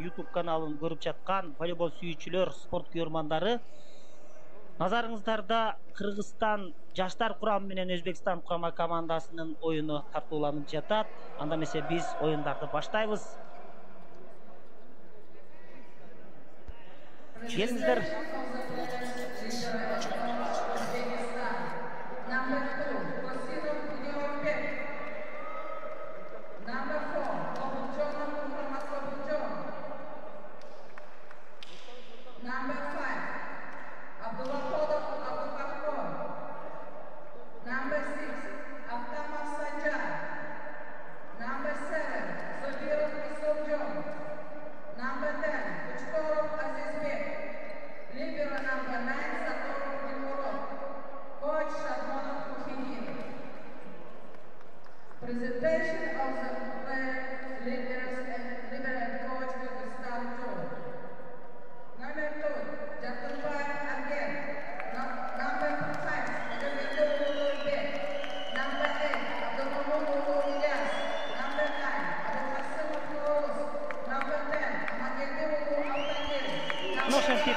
YouTube каналын көрүп жаткан волейбол сүйүүчүлөр, спорт күйөрмандары, назарыңыздарда Кыргызстан жаштар курамы менен Өзбекстан курама командасынын оюну тартууланып жатат. Анда эмесе биз оюндарды баштайбыз. Келиңиздер.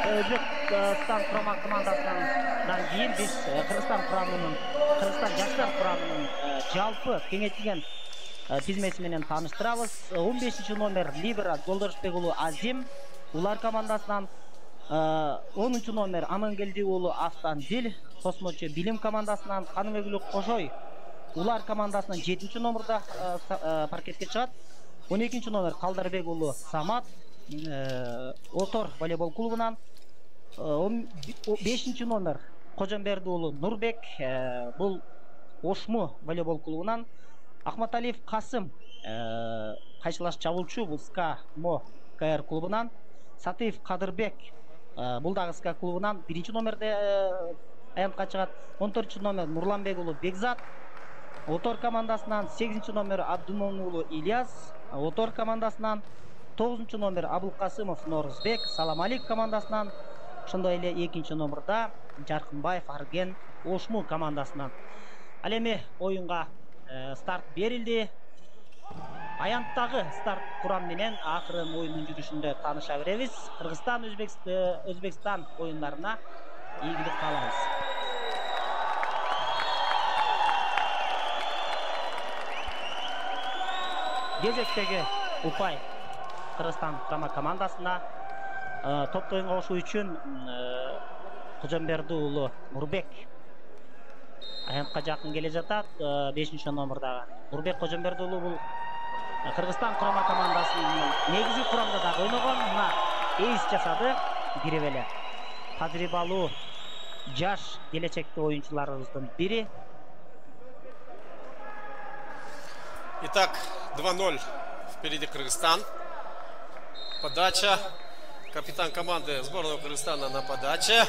Өзбекстан курама командасынан кийин биз Кыргызстан жаштар курамынын жалпы кеңейтилген тизмеси менен тааныштырабыз. 15 номер Либера Жолдошбек уулу Азим улар командасынан, 10 номер Амангелди уулу Автандил космочу билим командасынан, Каныбек Кошой улар командасынан 7 номерда паркетке чыгат. 12 номер Калдарбек уулу Самат Отор волейбол клубунан, 5 номер Кожомберди уулу Нурбек бул Ошму волейбол клубунан, Ахматалиев Касым кайшылаш чабуулчу бул СКА Мо КР клубунан, Сатыев Кадырбек бул дагы СКА клубунан 1 номерде аянтка чыгат. 14 номер Нурланбек уулу Бекзат Отор командасынан, 8 номер Абдумон уулу Ильяс Отор командасынан, 9 номер Абулкасымов Норузбек Саламалик командасынан, ошондой эле 2 номерда Жаркынбаев Арген Ошму командасынан. Ал эми оюнга старт берилди. Аянттагы старт курам менен акырын оюндун жүрүшүндө тааныша беребиз. Кыргызстан Өзбекстан оюндарына ийгилик каалайбыз. Кезектеги упай Кыргызстан курама командасына. Топто оюнга кошуу үчүн Кожомберди уулу Нурбек аянтка жакын келе жатат. 5 номердагы Нурбек Кожомберди уулу бул Кыргызстан курама командасынын негизги курамда дагы ойногон. Мына эйс жасады, кирип эле. Тажрыйбалуу жаш келечекте оюнчуларыбыздын бири. Итак, 2-0 впереди Кыргызстан. Подача. Капитан команды сборной Кыргызстана на подаче.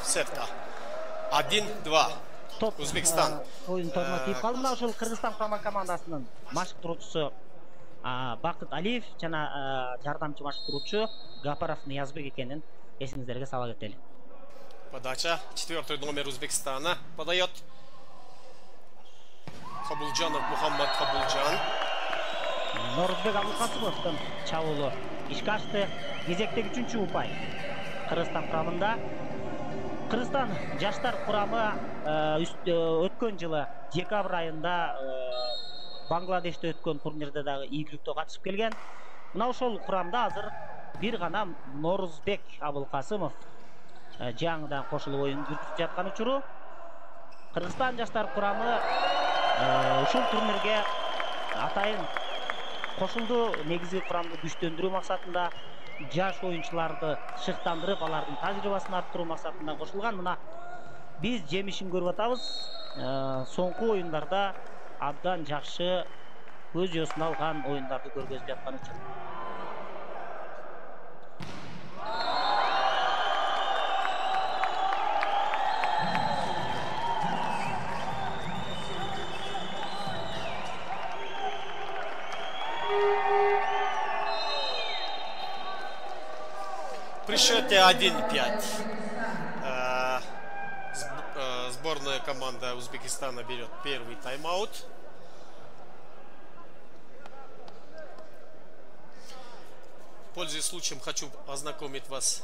Сетка. 1-2. Өзбекстан. Оюн тормотип калды. Мына ошол Кыргызстан курама командасынын машыктыруучусу Бакыт Алиев жана жардамчы машыктыруучу Гапаров Ниязбек экенин эсиңиздерге сала кетели. Подача. 4 номер Өзбекстана подает. Хабулжанов Мухаммад Хабулжан. Норузбек Абулкасымовдун чабуулу ишке ашты. Кезектеги 3-чү упай Кыргызстан курамында. Кыргызстан жаштар курамы өткөн жылы декабрь айында Бангладеште өткөн турнирде дагы ийгиликтүү катышып келген. Мына ошол курамда азыр бир гана Норузбек Абулкасымов жаңыдан кошулуп оюн жүргүзүп жаткан учуру. Кыргызстан жаштар курамы ушул турнирге атайын кошулду. Негизги курамды күчтөндүрүү максатында, жаш оюнчуларды шыктандырып, алардын тажрыйбасын арттыруу максатында кошулган. Мына биз жемишин көрүп атабыз. Соңку оюндарда абдан жакшы көз жосун алган оюндарды көргөзүп жаткан үчүн. При счете 1-5 сборная команда Узбекистана берет первый тайм-аут. Пользуясь случаем, хочу ознакомить вас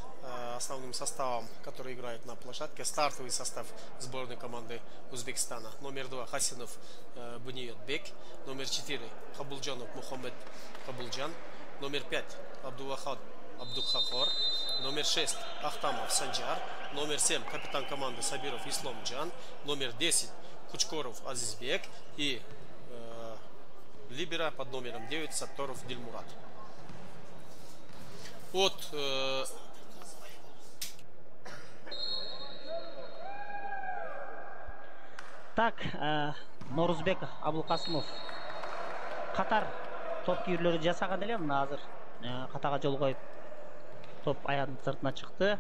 основным составом, который играет на площадке. Стартовый состав сборной команды Узбекистана. Номер 2 Хасинов Буниетбек. Номер 4 Хабулджанов Мухаммед Хабулджан. Номер 5 Абдулвахад Абдухахор. Номер 6 Ахтамов Санджар. Номер 7 капитан команды Сабиров Исламджан. Номер 10 Кучкоров Азизбек. И либера под номером 9 Сатторов Дильмурат. Так, Норузбек Абулкасымов катар топ кийүүлөрү жасаган эле, мына азыр катага жол коюп топ аягынын сыртына чыкты.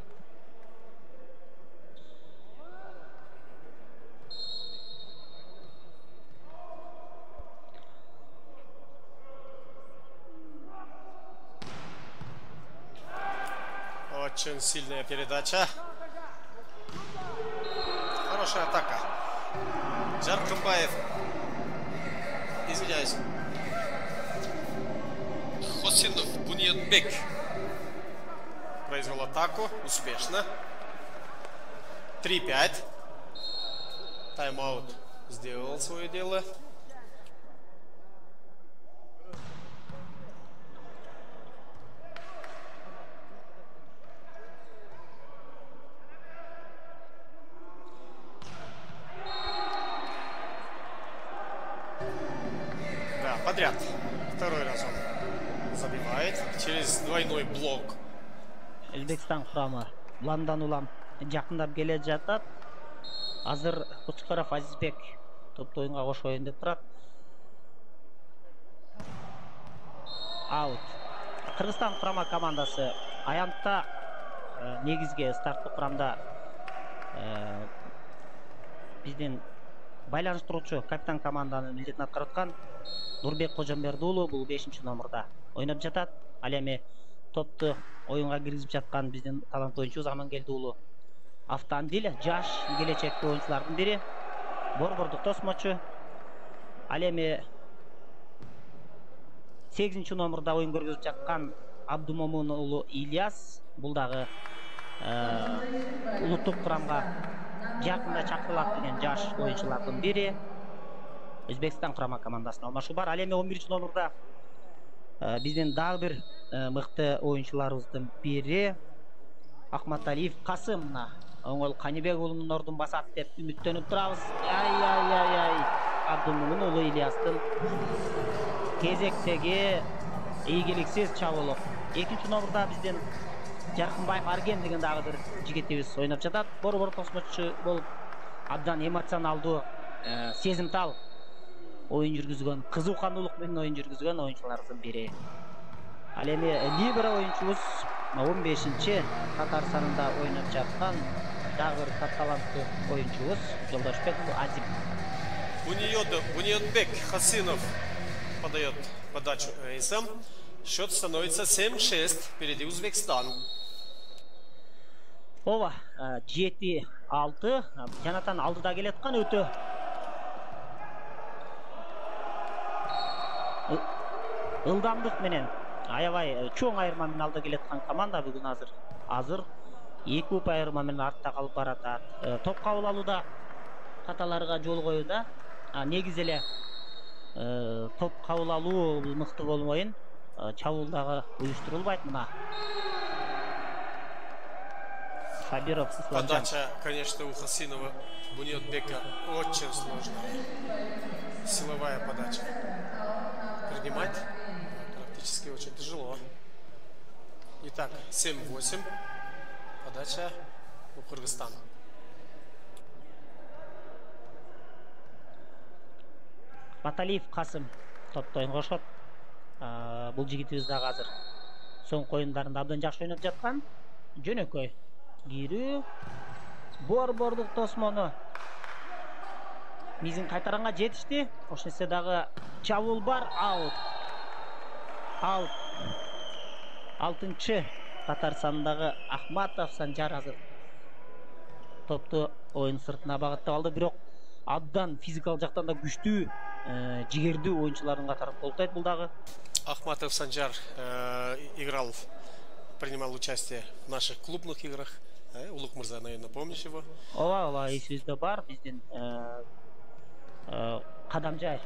Очень сильная передача. Хорошая атака. Жаркымбаев. Извиняюсь. Хосинов Буниетбек произвел атаку успешно. 3-5. Тайм-аут сделал свое дело. Подряд. Второй раз он забивает через двойной блок. Өзбекстан курамы уламдан улам жакындап келе жатат. Азыр Кучкоров Азизбек топты оюнга кошоюн деп турат. Аут. Кыргызстан курама командасы аянтта негизги старттык курамда биздин байланыштыруучу капитан команданын милдетин аткарып аткан Нурбек Кожомберди уулу бул 5-чи номерда ойноп жатат. Ал эми топту оюнга киргизип жаткан биздин таланттуу оюнчубуз Амангелди уулу Автандил, жаш келечекти оюнчулардын бири. Борбордук тосмочу. Ал эми 8-чи номерда оюн көргөзүп жаткан Абдумомун уулу Ильяс бул дагы улуттук курамга жакында чакырылат деген жаш оюнчулардын бири. Өзбекстан курама командасына алмашуу бар. Ал эми 11-чи номерда биздин дагы бир мыкты оюнчуларыбыздын бири Ахматалиев Касым. Мына оңол Канибек уулунун ордун басат деп үмүттөнүп турабыз. Абдумомун уулу Ильястын кезектеги ийгиликсиз чабуулу. 2-чи номерда биздин Жаркынбаев Арген деген дагы бир жигитибиз ойноп жатат. Борбор тосмочу болуп абдан эмоционалдуу, сезимтал оюн жүргүзгөн, кызуукандуулук менен оюн жүргүзгөн оюнчулардын бири. Ал эми либера оюнчубуз 15-чи катар санында ойноп жаткан дагы бир таланттуу оюнчубуз Жолдошбек Азим. Буниетбек Хасинов подает подачу эйсом. Счет становится 7-6. Впереди Узбекистан. Ооба, 7-6. Жанатан алдыда келаткан өтө ылдамдык менен аябай чоң айырма менен алда келаткан команда бүгүн азыр 2 ұпай айырма менен артта калып баратат. Топ кабыл алууда каталарга жол коюуда. Негизи эле топ кабыл алуу мыкты болмойын, чабуул дагы уюштурулбайт. Мына Сабиров Исламжан. Подача, конечно, у Хасинова Буниетбека очень сложная. Силовая подача. Принимать практически очень тяжело. Итак, 7-8. Подача у Кыргызстана. Баталиев Касым топто оюнга кошот. Бул жигитибиз дагы азыр соңку оюндарында абдан жакшы ойноп жаткан. Жөнөкөй кирүү. Борбордук тосмону мизин кайтаранга жетишти. Ошентсе дагы чабуул бар. Аут. 6-чы катар санындагы Ахматов Санжар азыр топту оюн сыртына багыттап алды. Бирок абдан физикалык жактан да күчтүү, жигердүү оюнчулардын катары толтойт бул дагы. Ахматов Санжар играл принимал участие в наших клубных играх. Улук Мырза, наверное, помнишь его? ооба эсибизде бар. Биздин Кадамжай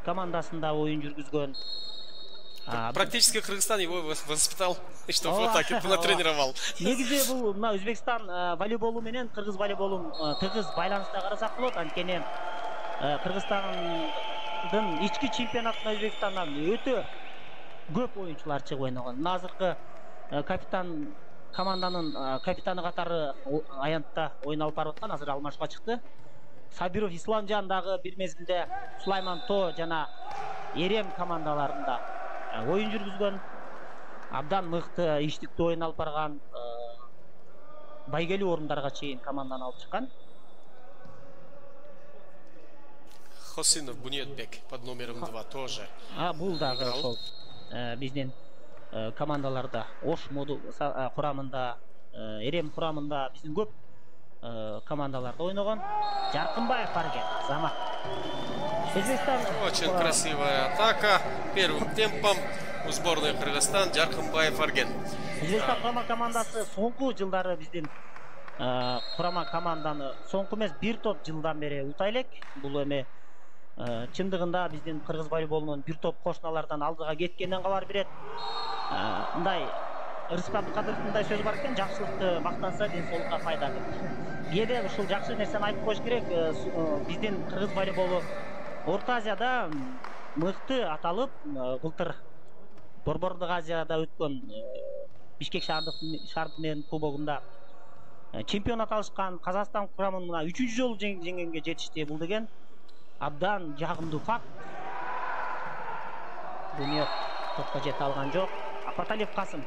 командасында оюн жүргүзгөн. Практически Кыргызстан его воспитал, чтобы вот так натренировал. Негизи бул мына Өзбекстан волейболу менен кыргыз волейболун тыгыз байланыста карасак болот. Анткени Кыргызстандын ички чемпионатына Өзбекстандан өтө көп оюнчулар чыгып ойногон. Азыркы капитан команданын капитаны катары аянтта ойун алып барып аткан, азыр алмашка чыкты. Сабиров Исламжан дагы бир мезгилде Сулайман То жана Эрем командаларында оюн жүргүзгөн. Абдан мыкты иштиктүү оюн алып барган, байгелүү орундарга чейин команданы алып чыккан. Хосинов Буниетбек под номером 2 тоже. Бул дагы ошол биздин командаларда Ош моду курамында, Эрем курамында биздин көп командаларда ойногон. Жаркынбаев Фарген, Замат. Өзбекстан. Очень красивая атака. Первым темпом у сборной Кыргызстан Жаркынбаев Фарген. Өзбекстан курама командасы соңку жылдары биздин курама команданы соңку эмес бир топ жылдан бери утай элек. Бул эми чындыгында биздин кыргыз волейболунун бир топ кошуналардан алдыга кеткенин кабар берет. Мындай Рыскап Абдыкадыровдун мындай сөзү бар экен, жакшылыкты мактанса ден соолукка пайда деп. Кээде ушул жакшы нерсени айтып коюш керек. Биздин кыргыз волейболу Орто Азияда мыкты аталып, былтыр Борбордук Азияда өткөн Бишкек шаардык менен кубогунда чемпионат алышкан. Казакстан курамын мына 3-чү жолу жеңгенге жетишти. Бул деген абдан жагымдуу факт. Буниет топко жете алган жок. Апаталиев Касым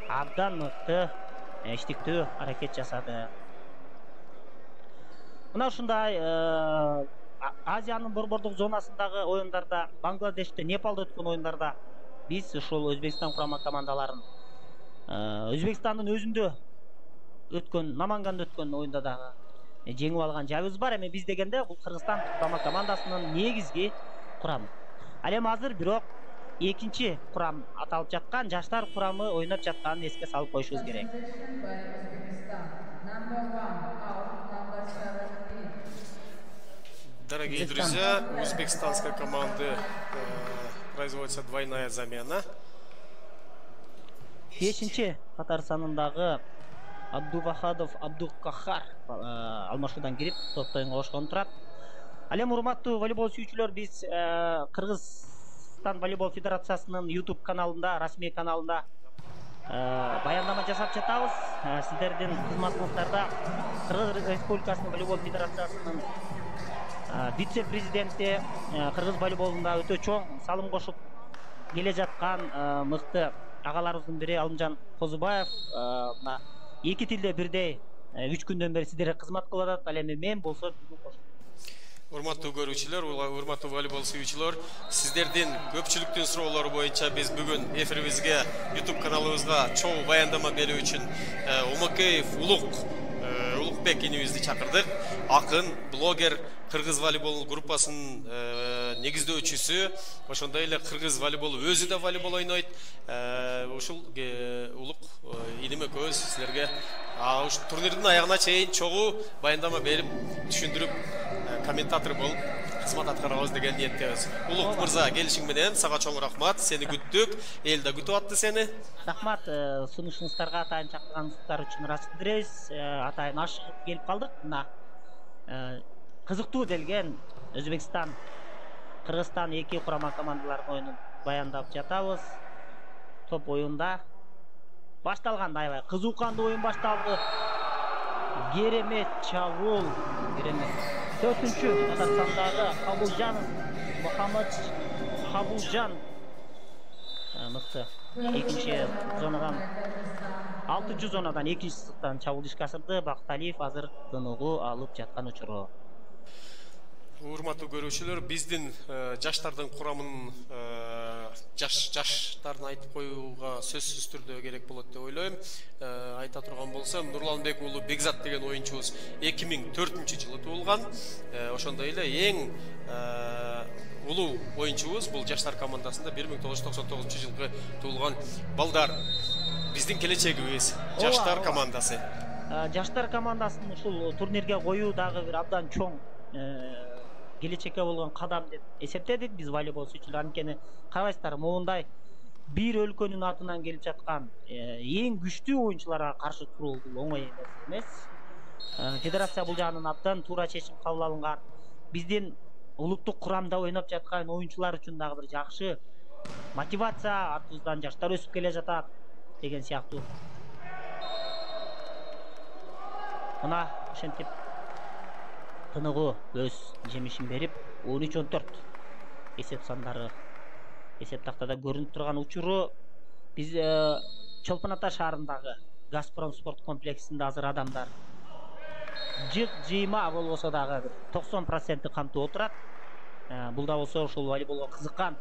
абдан мыкты иштиктүү аракет жасады. Мына ушундай Азиянын борбордук зонасындагы оюндарда, Бангладеште, Непалда өткөн оюндарда биз ушул Өзбекстан курама командаларын Өзбекстандын өзүндө өткөн, Наманганда өткөн оюнда дагы жеңип алган жайыбыз бар. Эми биз дегенде бул Кыргызстан курама командасынын негизги курамы. Ал эми азыр бирок экинчи курам аталып жаткан жаштар курамы ойноп жатканын эске салып коюшубуз керек. Дорогие друзья, у узбекистанской команды производится двойная замена. 5-чи катар санындагы Абдувахадов Абдукахар алмашуудан кирип топто оюнга кошкон турат. Ал эми урматтуу волейбол сүйүүчүлөр, биз Кыргызстан волейбол федерациясынын YouTube каналында, расмий каналында баяндама жасап жатабыз. Сиздердин кызматыңыздарда Кыргыз Республикасынын волейбол федерациясынын вице-президенти, кыргыз волейболунда өтө чоң салым кошуп келе жаткан мыкты агаларыбыздын бири Алымжан Козубаев мына эки тилде бирдей 3 күндөн бери сиздерге кызмат кылып атат. Ал эми мен болсо Урматтуу көрүүчүлөр, урматтуу волейбол сүйүүчүлөр, сиздердин көпчүлүктүн суроолору боюнча биз бүгүн эфирибизге, YouTube каналыбызга чоң баяндама берүү үчүн Умакеев Улукбек инибизди чакырдык. Акын, блогер, кыргыз волейбол группасынын негиздөөчүсү, ошондой эле кыргыз волейбол өзү да волейбол ойнойт. Ушул Улук иним экөөбүз силерге турнирдин аягына чейин чогуу баяндама берип, түшүндүрүп, комментатор болуп кызмат аткарабыз деген ниеттебиз. Улук мырза, келишиң менен сага чоң рахмат. Сени күттүк, эл да күтүп атты сени. Рахмат, сунушуңуздарга атайын чакырганыңыздар үчүн ыраазычылык билдиребиз. Атайын ашыгып келип калдык. Мына кызыктуу делген Өзбекстан, Кыргызстан эки курама командалардын оюнун баяндап жатабыз. Топ оюнда башталган, аябай кызуу кандуу оюн башталды. Керемет чабуул, керемет. 4-чү Татарстандагы Кабулжанов Мухаммад Кабулжан мыкты экинчи зонадан 6-чы зонадан экинчи сызыктан чабуул ишке ашырды. Бакталиев азыр дынугу алып жаткан учуру. Урматтуу көрүүчүлөр, биздин жаштардын курамын жаштарын айтып коюуга сөзсүз түрдө керек болот деп ойлойм. Айта турган болсом, Нурланбек уулу Бекзат деген оюнчубуз 2004-жылы туулган. Ошондой эле эң улуу оюнчубуз бул жаштар командасында 1999-жылы туулган балдар. биздин келечегибиз, жаштар командасы. Жаштар командасын ушул турнирге коюу дагы бир абдан чоң келечекке болгон кадам деп эсептедик биз волейбол сүйүүчүлөр. Анткени карабайсыздар, моундай бир өлкөнүн атынан келип жаткан эң күчтүү оюнчуларга каршы туруу бул оңой эмес. Федерация бул жагынан абдан туура чечим кабыл алынган. Биздин улуттук курамда ойноп жаткан оюнчулар үчүн дагы бир жакшы мотивация, артыбыздан жаштар өсүп келе жатат деген сыяктуу. Мына ошентип тыныгуу өз жемишин берип 13-14 эсеп сандары эсеп тактада көрүнүп турган учуру биз Чолпон Ата шаарындагы Газпром спорт комплексинде азыр адамдар жыйма болбосо дагы 90% камтып отурат. Бул да болсо ушул волейболго кызыккан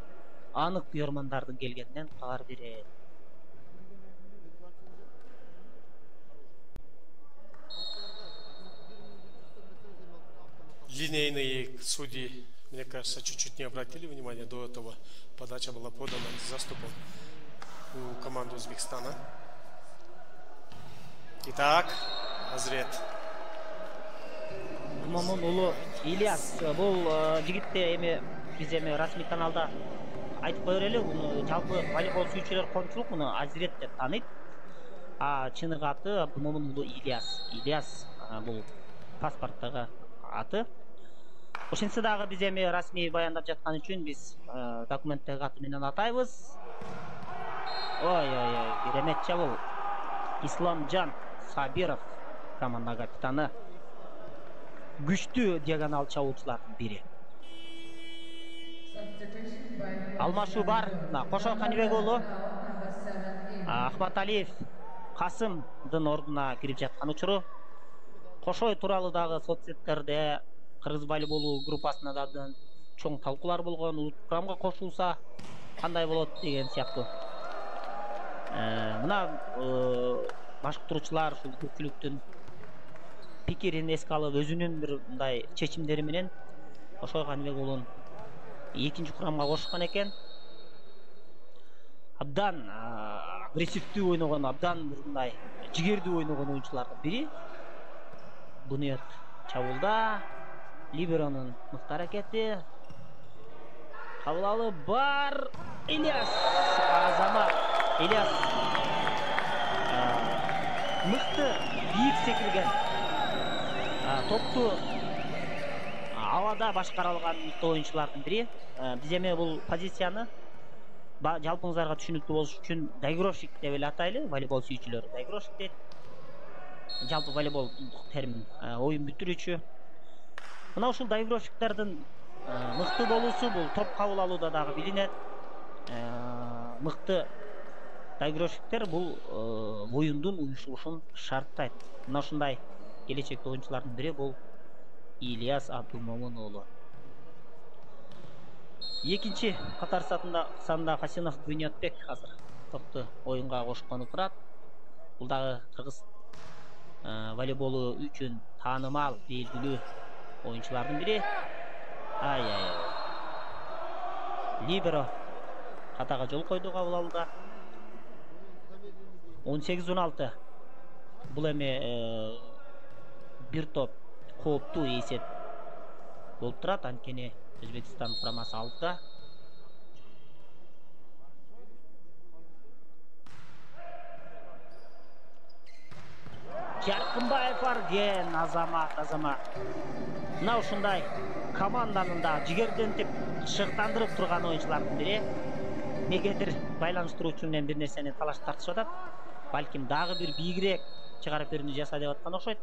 анык күйөрмандардын келгенинен кабар берет. Линейные судьи, мне кажется, чуть-чуть не обратили внимания до этого. Подача была подана с заступом у команды Узбекистана. Итак, Азрет. Момун улу Ильяс, бул жигитте эми биз эми расмий каналда айтып кое берели, муну жалпы волейбол сүйүүчүлөр коомчулук муну Азрет деп тааныйт. Чыныгы аты Момун улу Ильяс. Ильяс бул паспорттогу аты. Ошентсе дагы биз эми расмий баяндап жаткан үчүн биз документтеги аты менен атайбыз. Ой, керемет бул Исламжан Сабиров, команда капитаны. Күчтүү диагонал чабуучулардын бири. Алмашуу бар. Кошо Канибек уулу Ахматалиев Касымдын ордуна кирип жаткан учуру. Кошой тууралуу дагы соцсеттерде кыргыз волейболу группасында да чоң талкуулар болгон. Улуттук курамга кошулса кандай болот деген сыяктуу. Мына башкаруучулар ушул көпчүлүктүн пикирин эске алып өзүнүн бир мындай чечимдери менен Кошой Канибек уулун экинчи курамга кошушкан экен. Абдан агрессивдүү ойногон, абдан бир мындай жигердүү ойногон оюнчулардын бири. Буниет чабуулда либеронун мыкты аракети. Кабыл алып бар Ильяс. Азамат Ильяс мыкты бийик секирген. Топту абада башкара алган мыкты оюнчулардын бири. Биз эми бул позицияны жалпыңыздарга түшүнүктүү болуш үчүн доигровщик деп эле атайлы. Волейбол сүйүүчүлөр доигровщик дейт. Жалпы волейбол термин оюн бүтүрүүчү. Мына ушул доигровщиктердин мыкты болуусу бул топ кабыл алууда дагы билинет. Мыкты доигровщиктер бул оюндун уюшулушун шарттайт. Мына ушундай келечектеги оюнчулардын бири бул Ильяс Абдумомун уулу. Экинчи катар санда Хасенов Буниятбек азыр топту оюнга кошкону турат. Бул дагы кыргыз волейболу үчүн таанымал, белгилүү оюнчулардын бири. Либеро катага жол койду кабыл алууда. 18-16. Бул эми бир топ кооптуу эсеп болуп турат. Анткени Өзбекстан курамасы алдыда. Жаркынбаев Арген, Азамат. Мына ушундай команданын да жигердентип шыктандырып турган оюнчулардын бири. Негедир байланыштыруучу менен бир нерсени талаш тартышып атат. Балким дагы бир бийигирээк чыгарып берүүнү жаса деп аткан окшойт.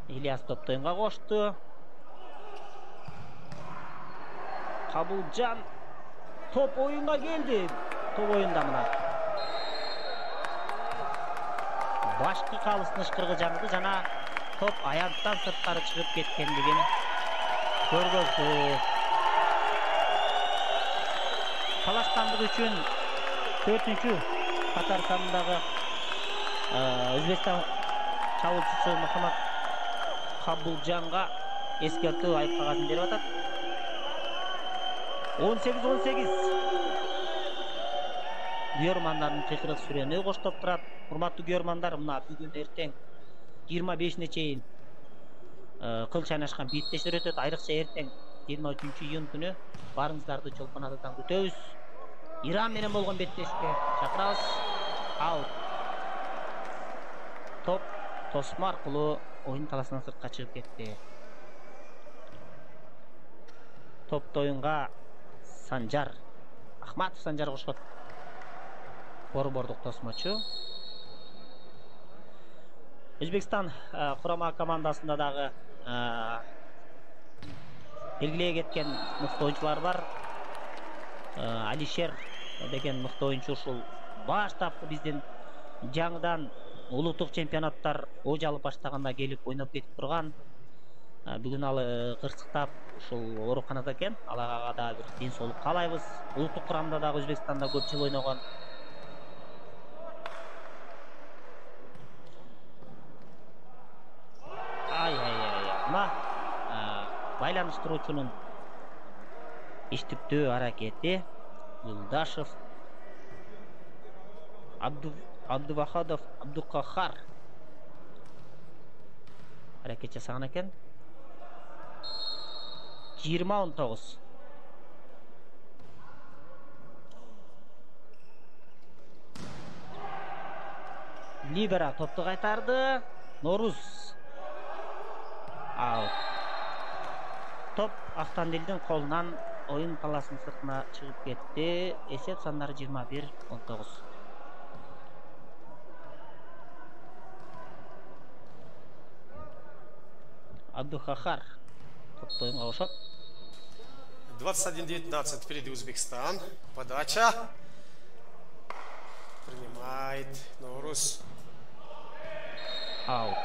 Ильяс топту оюнга кошту. Кабылжан топ оюнга келди. Топ оюнда мына башкы калыстын ышкырыгы жаңды жана топ аянттан сырткары чыгып кеткендигин көргөздү. Талаштандык үчүн 4-чү катар сандагы Өзбекстан чабуучусу Мухаммад Кабылжанга эскертүү айып кагасын берип атат. 18-18. күйөрмандардын кыйкырык сүрөнү коштоп турат. Урматтуу күйөрмандар, мына бүгүн эртең 25-не чейин кыл чайнашкан бийиктештер өтөт. Айрыкча эртең 23-июнь күнү баарыңыздарды Чолпон Атадан күтөбүз. Иран менен болгон беттешке чакырабыз. Аут. Топ тосмо аркылуу оюн таласынан сыртка чыгып кетти. Топто оюнга Санжар Ахматов кошот. Борбордук тосмочу. Өзбекстан курама командасында дагы белгилей кеткен мыкты оюнчулар бар. Алишер деген мыкты оюнчу ушул баштапкы биздин жаңыдан улуттук чемпионаттар ож алып баштаганда келип ойноп кетип турган. Бүгүн ал кырсыктап ушул ооруканада экен. Алага да бир ден соолук каалайбыз. Улуттук курамда дагы Өзбекстанда көп жыл ойногон. Мына байланыштыруучунун иштиктүү аракети. Юлдашев, Абдувахадов, Абдукахар аракет жасаган экен. 20-19. Либера топту кайтарды. Норуз. Аут. Топ Автандилдин колунан оюн таласынын сыртына чыгып кетти. Эсеп сандары 21-19. Абдухахар топту оюнга кошот. 21-19 впереди Узбекистан. Подача. Принимает Норус. Аут.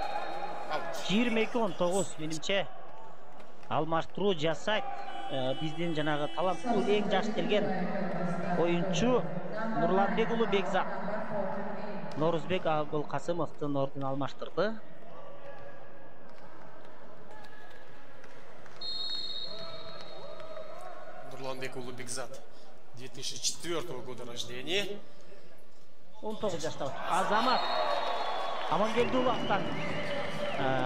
22-19 менимче алмаштыруу жасайт. Биздин жанагы таланттуу эң жаш келген оюнчу Нурланбек уулу Бекзат. Норузбек Абылкасымовдун ордун алмаштырды. Нурланбек уулу Бекзат 2004 года рождения. 19 жашта. Азамат Амангелдиулу Актан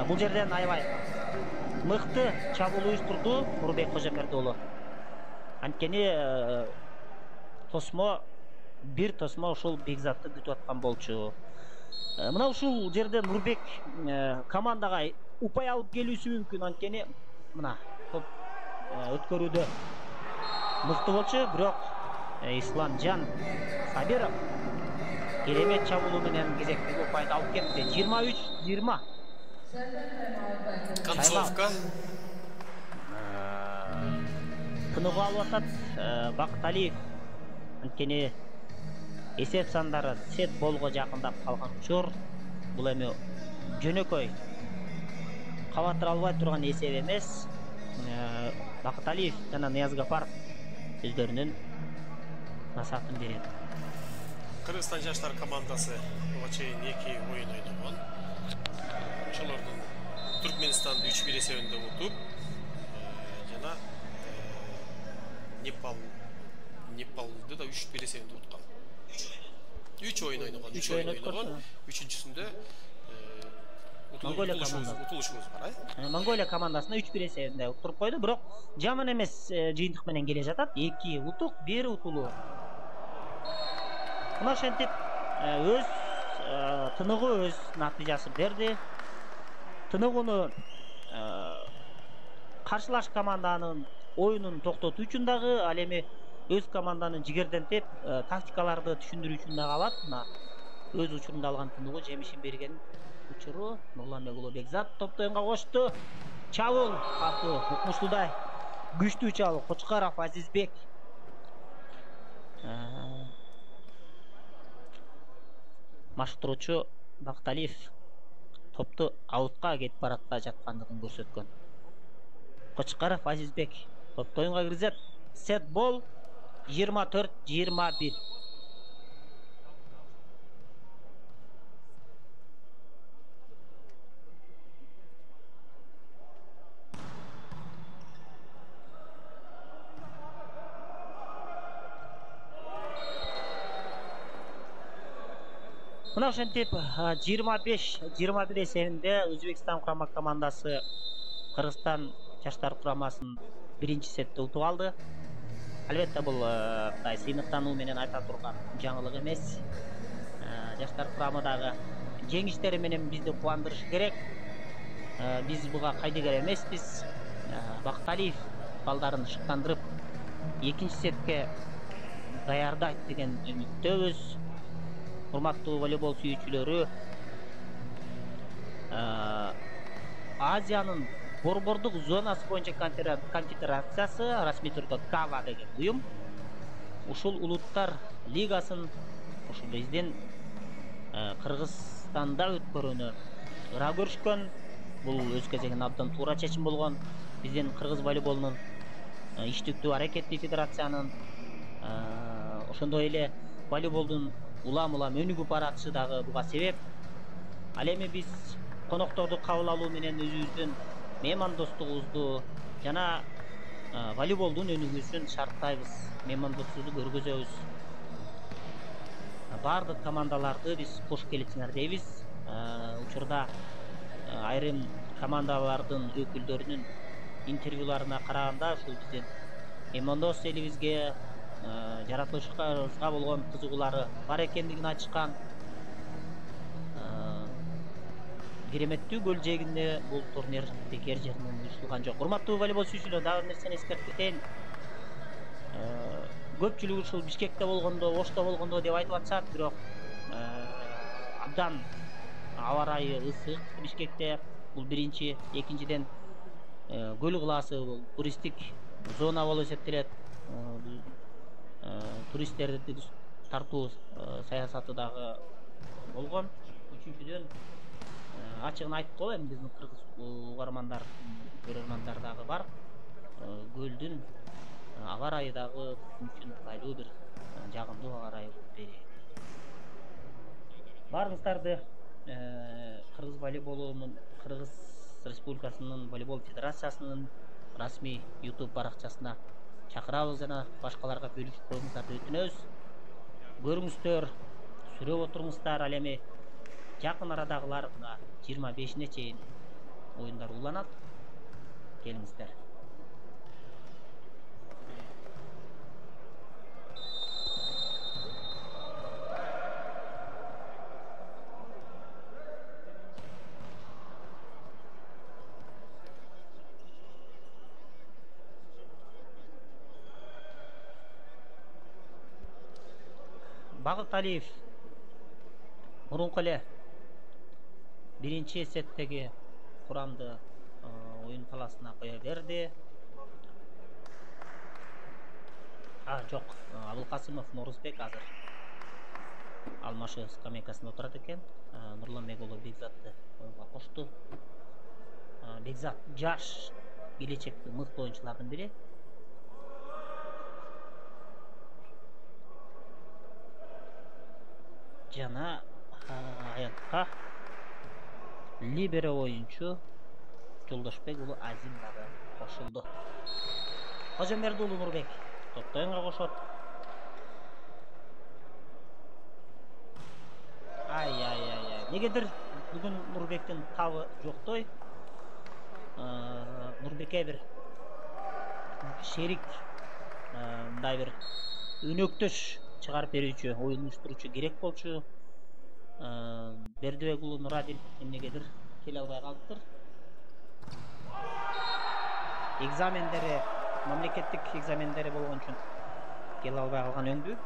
бул жерден аябай мыкты чабуул уюштурду Нурбек Кожомерди уулу. Анткени бир тосмо ушул Бекзатты күтүп аткан болчу. Мына ушул жерде Нурбек командага упай алып келүүсү мүмкүн. Анткени мына топ өткөрүүдө мыкты болчу, бирок Исламжан Сабиров керемет чабуулу менен кезектеги упайды алып кетти. 23-20. Концовка. Тыныгуу алып атат Бакталиев. Анткени эсеп сандары сет болго жакындап калган учур. Бул эми жөнөкөй кабаттыра албай турган эсеп эмес. Бакталиев жана Ниязгафаров өздөрүнүн насаатын берет. Кыргызстан жаштар командасы буга чейин 2 оюн ойногон. Ошолордун Түркменистанды 3-1 эсебинде утуп, жана Непалды да 3-1 эсебинде уткан. 3 оюн ойногон. 3 оюн ойногон. Үчүнчүсүндө утулушубуз бар. Монголия командасына 3-1 эсебинде уттуруп койду, бирок жаман эмес жыйынтык менен келе жатат. 2 утук, 1 утулуу. Мына ошентип өз тыныгы өз натыйжасын берди. Тыныгууну каршылаш команданын оюнун токтотуу үчүн дагы, ал эми өз команданын жигердентип тактикаларды түшүндүрүү үчүн дагы алат. Мына өз учурунда алган тыныгуу жемишин берген учуру. Нурланбек уулу Бекзат топту оюнга кочту. Чабуул катуу, укмуштуудай күчтүү чабуул. Кочкаров Азизбек. Маштыруучу Бакталиев топту аутка кетип баратта жаткандыгын көрсөткөн. Кочкаров Азизбек топту оюнга киргизет. Сет бол 24-21. Мына ошентип 25-21 эсебинде Өзбекстан курама командасы Кыргызстан жаштар курамасын биринчи сетте утуп алды. Албетте бул мындай сыйныктануу менен айта турган жаңылык эмес. Жаштар курамы дагы жеңиштери менен бизди кубандырышы керек. Биз буга кайдыгер эмеспиз. Бакталиев балдарын шыктандырып экинчи сетке даярдайт деген үмүттөбүз. Урматтуу волейбол сүйүүчүлөрү, Азиянын борбордук зонасы боюнча конфедерациясы, расмий түрдө КАВА деген уюм, ушул улуттар лигасын ушу биздин Кыргызстанда өткөрүүнү ыра көрүшкөн. Бул өз кезегинде абдан туура чечим болгон. Биздин кыргыз волейболунун иштиктүү аракеттүү федерациянын ошондой эле волейболдун улам өнүгүп баратышы дагы буга себеп. Ал эми биз конокторду кабыл алуу менен өзүбүздүн меймандостугубузду жана волейболдун өнүгүүсүн шарттайбыз, меймандостугубузду көргөзөбүз. Бардык командаларды биз кош келипсиңер дейбиз. Учурда айрым командалардын өкүлдөрүнүн интервьюларына караганда ушул биздин меймандос элибизге жаратылышыбызга болгон кызыгуулары бар экендигин айтышкан. Кереметтүү көл жээгинде бул турнир бекер жеринен уюштурулган жок. Урматтуу волейбол сүйүүчүлөр, дагы бир нерсени эскертип кетейин. Көпчүлүк ушул Бишкекте болгондо, Ошто болгондо деп айтып атышат, бирок абдан аба ырайы ысык Бишкекте. Бул биринчи, экинчиден көл кылаасы бул туристтик зона болуп эсептелет. Туристтерди тартуу саясаты дагы болгон. Үчүнчүдөн ачыгын айтып коеюн, биздин кыргыз угармандар, көрөрмандар дагы бар. Көлдүн аба ырайы дагы үчүн ыңгайлуу бир жагымдуу аба ырайы болуп берет. Баарыңыздарды Кыргыз волейболунун, Кыргыз Республикасынын волейбол федерациясынын расмий YouTube баракчасына чакырабыз жана башкаларга бөлүшүп коюңуздарды өтүнөбүз. Көрүңүздөр, сүрөп отуруңуздар. Ал эми жакын арадагылар мына 25-ине чейин оюндар уланат. Келиңиздер. Багыт Алиев мурунку эле биринчи сеттеги курамды оюн таласына кое берди. Жок, Абылкасымов Норузбек азыр алмашы скамейкасында отурат экен. Нурланбек уулу Бекзатты оюнга кошту. Бекзат жаш келечектеги мыкты оюнчулардын бири. Жана аятка либеро оюнчу Жолдошбек уулу Азим дагы кошулду. Кожомберди уулу Нурбек топту оюнга кошот. Негедир бүгүн Нурбектин табы жоктой. Нурбекке бир шерик, мындай бир өнөктөш чыгарып берүүчү, оюн уюштуруучу керек болчу. Бердибек уулу Нурадил эмнегедир келе албай калыптыр. Экзамендери, мамлекеттик экзамендери болгон үчүн келе албай калган өңдүү.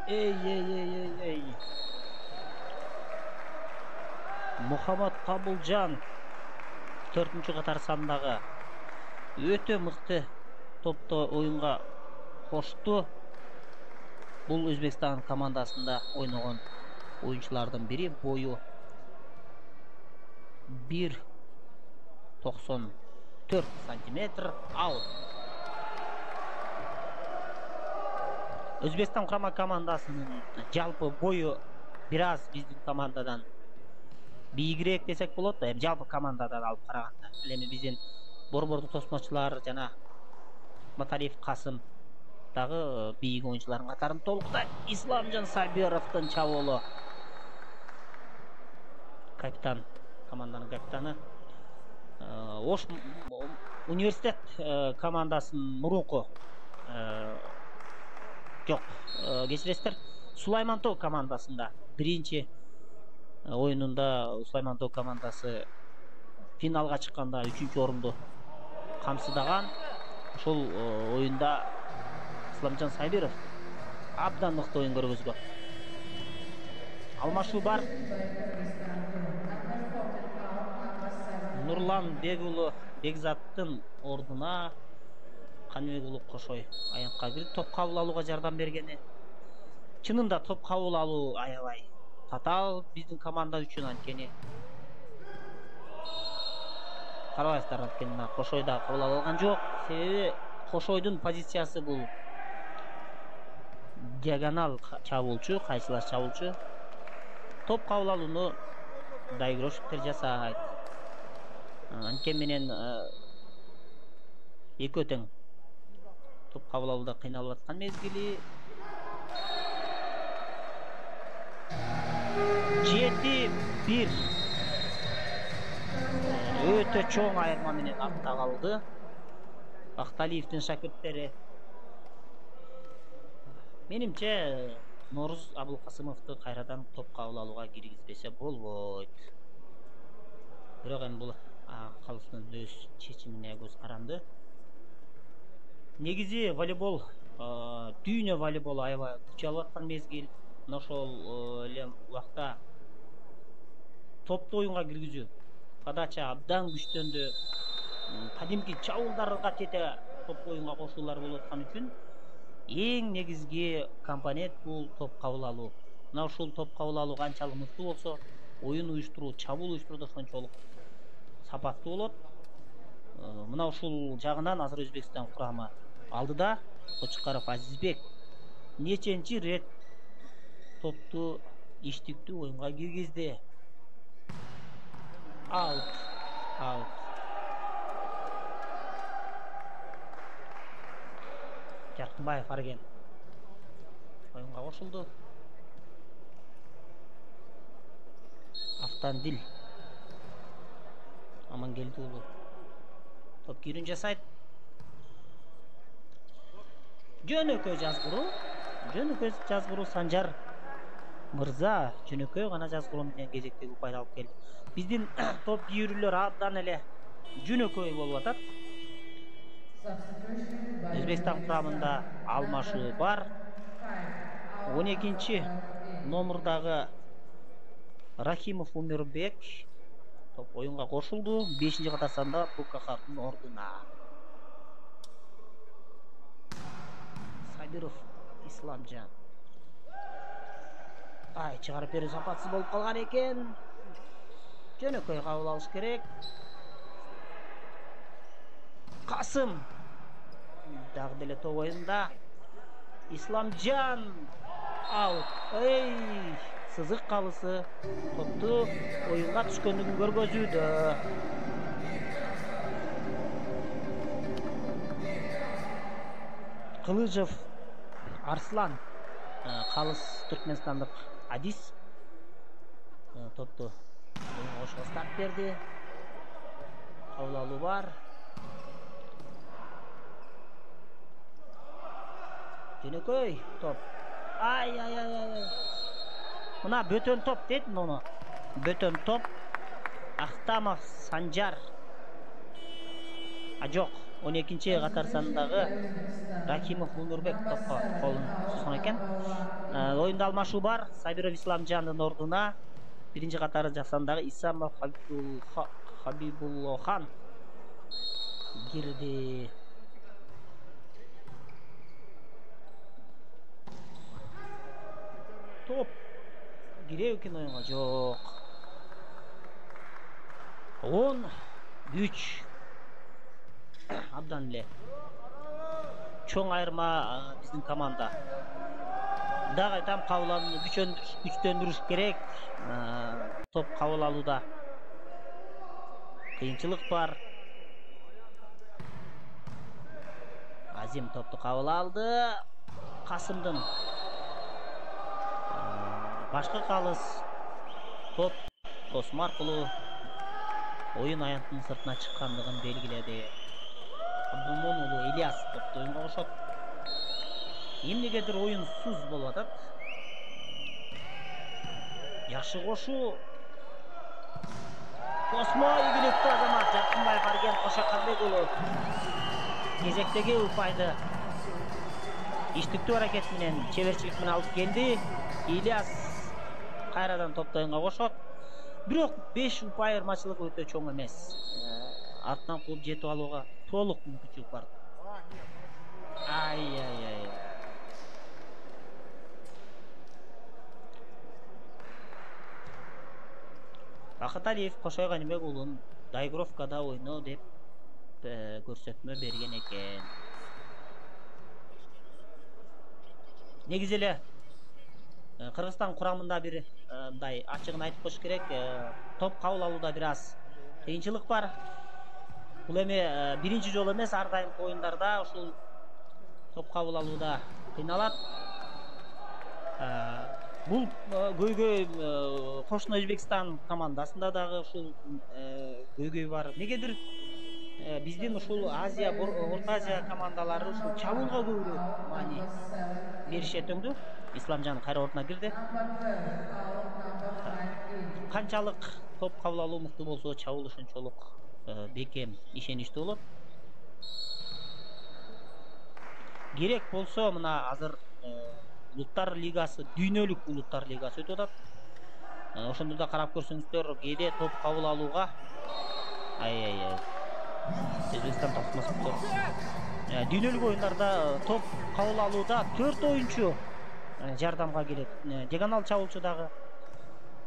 Эй. Мухаммад Кабылжан 4-чү катар сандагы өтө мыкты топто оюнга кошту. Бул Өзбекстан командасында ойногон оюнчулардын бири, бою 1,94 сантиметр. Аут. Өзбекстан курама командасынын жалпы бою бир аз биздин командадан бийигирээк десек болот да, жалпы командадан алып караганда. Эми биздин борбордук тосмочулар жана Маталиев Касым дагы бийик оюнчулардын катарында толукта. Исламжан Сабировдун чабуулу. Капитан, команданын капитаны. Ош университет командасынын мурунку жок, кечиресиздер, Сулайман Тоо командасында биринчи оюнунда Сулайман Тоо командасы финалга чыкканда 3-орунду камсыздаган. Ошол оюнда Исламжан Сабиров абдан мыкты оюн көргөзгөн. Алмашуу бар. Нурлан Бегулу Бекзаттын ордуна Каныбек Улук Кошой аянтка кирип топ кабыл алууга жардам бергени. Чынында топ кабыл алуу аябай татаал биздин команда үчүн, анткени карабайсыздар, анткени Кошой да кабыл алган жок. Себеби Кошойдун позициясы бул диагонал чабуулчу, кайсылаш чабуулчу. Топ кабыл алууну Дайгрошевтер жасайт. Анткени менен экөө тең топ кабыл алууда кыйналып аткан мезгили. 7-1 өтө чоң айырма менен артта калды Акталиевдин шакирттери. Менимче Нооруз Абылкасымовду кайрадан топ кабыл алууга киргизбесе болбойт. Бирок эми бул калыстын өз чечимине көз каранды. Негизи волейбол, дүйнө волейболу аябай күч алып аткан мезгил. Ошол эле убакта топту оюнга киргизүү, подача абдан күчтөндү. Кадимки чабуулдарга тете топ оюнга кошуулар болуп аткан үчүн эң негизги компонент бул топ кабыл алуу. Мына ушул топ кабыл алуу канчалык мыкты болсо, оюн уюштуруу, чабуул уюштурууда ошончолук сапаттуу болот. Мына ушул жагынан азыр Өзбекстан курамы алдыда. Кочкаров Азизбек неченчи рет топту иштиктүү оюнга киргизди. Аут. Жаркынбаев Арген оюнга кошулду. Автандил Амангелди уулу топ кирүүн жасайт. Жөнөкөй жазгыруу Санжар мырза жөнөкөй гана жазгыруу менен кезектеги упайды алып келди. Биздин топ кийүүрүлөр абдан эле жөнөкөй болуп атат. Өзбекстан курамында алмашуу бар. 12-чи номурдагы Рахимов Умирбек топ оюнга кошулду. 5-чи катарсанда Букахардын ордуна. Сабиров Исламжан. Чыгарып берүү сапатсыз болуп калган экен. Жөнөкөй кабыл алыш керек. Касым дагы деле топ оюнда. Исламжан аут. Сызык калысы топту оюнга түшкөндүгүн көргөзүүдө. Кылыжов Арслан калыс түркменстандык Адис топту оюнга кошууга старт берди. Кабыл алуу бар. Жөнөкөй топ. Мына бөтөн топ дейт муну. Бөтөн топ. Ахтамов Санжар. Жок, 12-чи катар сандагы Рахимов Умирбек топко колун сузган экен. Оюнда алмашуу бар. Сабиров Исламжандын ордуна 1-чи катары жасандагы Исамов Хабибуллохан кирди. Топ кирүү экен оюнга жок. 10-3 абдан эле чоң айырма биздин команда. Дагы айтам, кабыл алууну күчтөндүрүш керек. топ кабыл алууда кыйынчылык бар. Азим топту кабыл алды. Касымдын башкы калыс топ тосма аркылуу оюн аянтынын сыртына чыккандыгын белгиледи. Абдулмон уулу Ильяс топту оюнга кошот. Эмнегедир оюнсуз болуп атат. Жакшы кошуу. Тосмо ийгиликтүү Азамат Жакынбаев Арген Кошаканбек уулу кезектеги упайды иштиктүү аракет менен чеберчилик менен алып келди. Ильяс кайрадан топту оюнга кошот. Бирок 5 упай айырмачылык өтө чоң эмес. Артынан кууп жетип алууга толук мүмкүнчүлүк бар. Ай. Бакыт Алиев Кошой Ганимбек уулун доигровкада ойноо деп көрсөтмө берген экен. Негизи эле Кыргызстан курамында бир мындай ачыгын айтып коюш керек. Топ кабыл алууда бир аз кыйынчылык бар. Бул эми биринчи жолу эмес, ар дайым оюндарда ушул топ кабыл алууда кыйналат. Бул көйгөй кошуна Өзбекстан командасында дагы ушул көйгөй бар. Негедир биздин ушул Азия, Орто Азия командалары ушул чабуулга көбүрөөк маани беришет өңдү. Исламжан кайра ордуна кирди. Канчалык топ кабыл алуу мыкты болсо, чабуул ошончолук бекем, ишеничтүү болот. Керек болсо мына азыр Улуттар лигасы, дүйнөлүк улуттар лигасы өтүп атат. Ошондо да карап көрсөңүздөр, кээде топ кабыл алууга Өзбекстан тосмосу. Дүйнөлүк оюндарда топ кабыл алууда 4 оюнчу жардамга келет. Диагонал чабуулчу дагы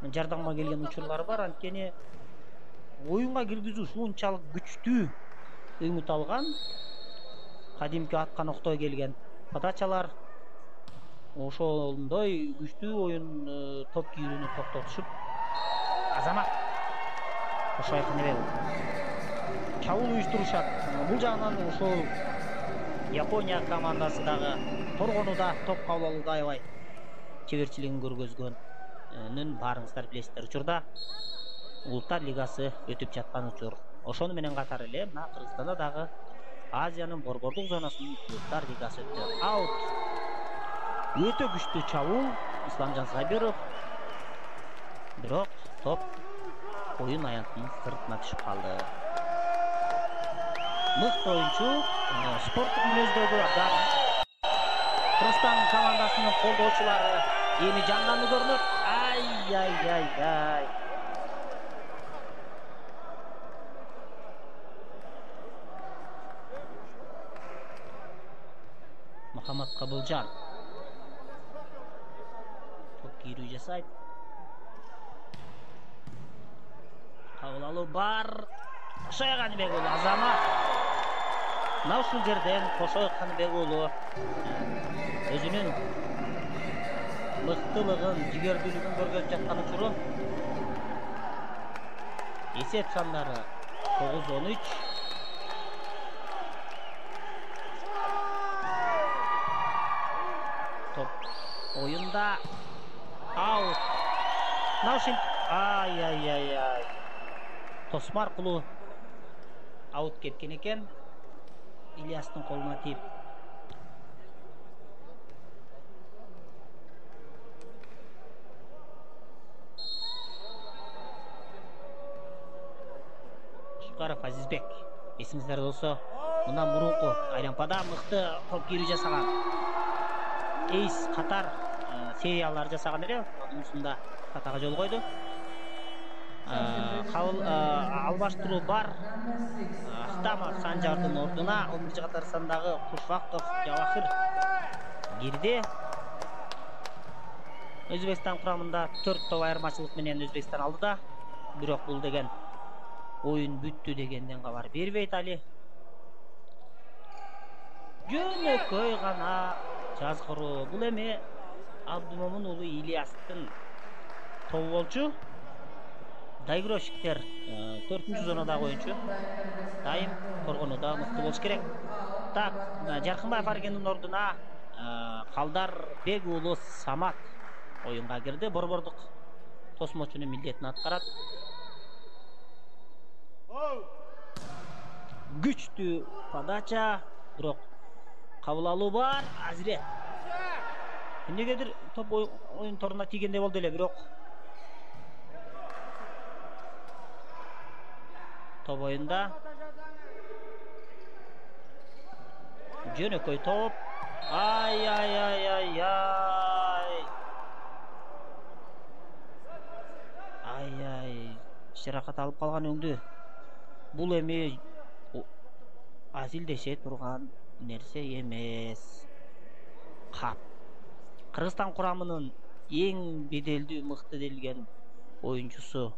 жардамга келген учурлар бар. Анткени оюнга киргизүү ушунчалык күчтүү үмүт алган. Кадимки аткан октой келген подачалар ошондой күчтүү оюн топ кийүүнү токтотушуп, Азамат Кошой Ганимбек чабуул уюштурушат. Бул жагынан ошол Япония командасы дагы торгонуда топ кабыл алууда аябай чеберчилигин көргөзгөнүн баарыңыздар билесиздер. Учурда Улуттар лигасы өтүп жаткан учур. Ошону менен катар эле мына Кыргызстанда дагы Азиянын борбордук зонасынын Улуттар лигасы өттү. Аут. Өтө күчтүү чабуул Исламжан Сабиров. Бирок топ оюн аянтынын сыртына түшүп калды. Мыкты оюнчу, спорттук мүнөздөгү Кыргызстан командасынын колдоочулары эми жандандуу көрүнөт. Ай. Мухаммад Кабылжан топ кийрүү жасайт. Кабыл алуу бар. Кошой Ганимбек уулу Азамат. Мына ушул жерден Кошой Ганимбек уулу өзүнүн мыктылыгын, жигердүүлүгүн көргөзүп жаткан учуру. Эсеп сандары 9-13. Топ оюнда аут. Наушин ай. Тосма аркылуу аут кеткен экен. Ильястын колуна тийип. Шукаров Азизбек. Эсиңиздерде болсо, мына мурунку айлампада мыкты топ кийрүү жасаган. Эйс катар сериялар жасаган эле. Мусунда катага жол койду. Албаштыруу бар. Ахтамов Санжардын ордуна 11-катар сандагы Кушвактов Жавахир кирди. Өзбекстан курамында 4 топ айырмачылык менен Өзбекстан алдыда. Бирок бул деген оюн бүттү дегенден кабар бербейт али. Жөнөкөй гана жазгыруу. Бул эми Абдулмомун уулу Ильястын тобу болчу. доигровщиктер 4-зонадагы оюнчу. Дайым коргонууда мыкты болуш керек. Так, Жаркынбаев Аргендин ордуна Калдар-бек уулу Самат оюнга кирди. Борбордук тосмочунун милдетин аткарат. Күчтүү подача, бирок кабыл алуу бар. Азирет эмнегедир топ оюн торуна тийгендей болду эле, бирок топ оюнда жөнөкөй топ. Ай. Жаракат алып калган өңдү. Бул эми азилдеше турган нерсе эмес. Кап. Кыргызстан курамынын эң беделдүү, мыкты делген оюнчусу.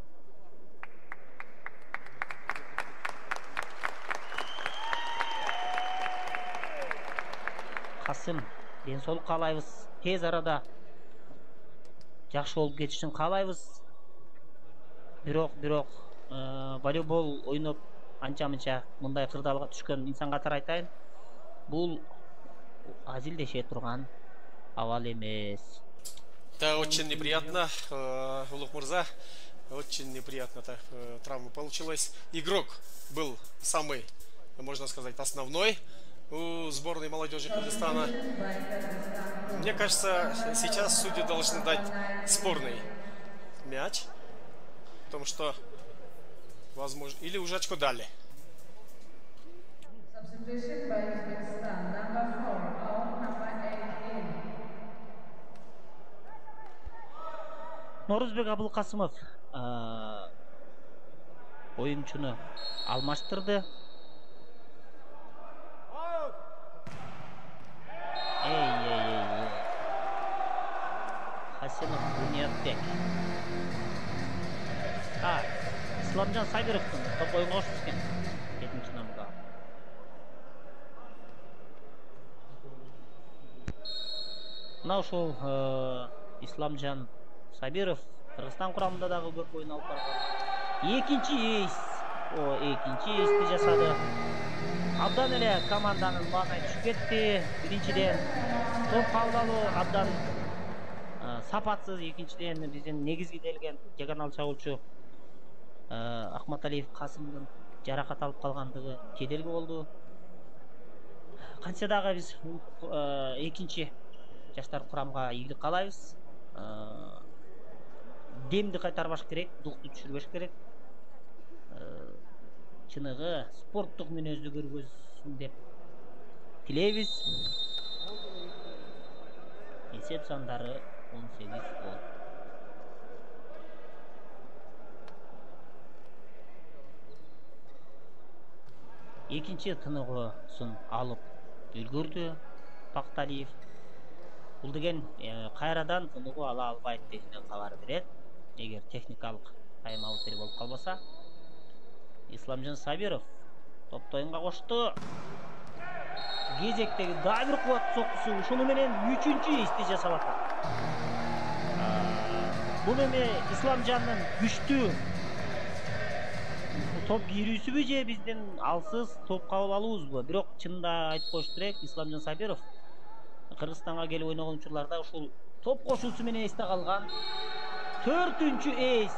Касым, ден соолук каалайбыз. Тез арада жакшы болуп кетишин каалайбыз. Бирок волейбол ойноп анча-мынча мындай кырдаалга түшкөн инсан катары айтайын, бул азилдеше турган абал эмес. Да, очень неприятно, Улук Мурза. Очень неприятно так травма получилась. Игрок был самый, можно сказать, основной у сборной молодежи Кыргызстана. Мне кажется, сейчас судьи должны дать спорный мяч, потому что, возможно, или уже очко дали. Норузбек Абылкасымов оюнчуну алмаштырды. Хасенов Буниятбек. Исламжан Сабировдун топ оюнга кошуп түскен 7-номерда. Мына ушул Исламжан Сабиров Кыргызстан курамында дагы көп оюн алып барган. Экинчи эйсти жасады. Абдан эле команданын маанай түшүп кетти. Биринчиден топ кабыл алуу абдан сапатсыз, экинчиден биздин негизги делген жаганал чабуулчу Акматалиев Касымдын жаракат алып калгандыгы кедерги болду. Кантсе дагы биз экинчи жаштар курамга ийгилик каалайбыз. Демди кайтарбаш керек, дукту түшүрбөш керек. Чыныгы спорттук мүнөздү көргөзсүн деп тилейбиз. Эсеп сандары 18 гол. Экинчи тыныгысын алып үлгүрдү Пакталиев. Бул деген кайрадан тыныгуу ала албайт деген кабар берет. Эгер техникалык тайм-аут болуп калбаса. Исламжан Сабиров топто оюнга кошту. Кезектеги дагы бир кубат соккусу, ушуну менен 3-чү эсти жасап атат. Бул эми Исламжандын күчтүү топ кирүүсүбү же биздин алсыз топ кабыл алуубузбу? Бирок чынында айтып коюш керек, Исламжан Сабиров Кыргызстанга келип ойногон учурларда ушул топ кошуусу менен эсте калган 4-чү эйс.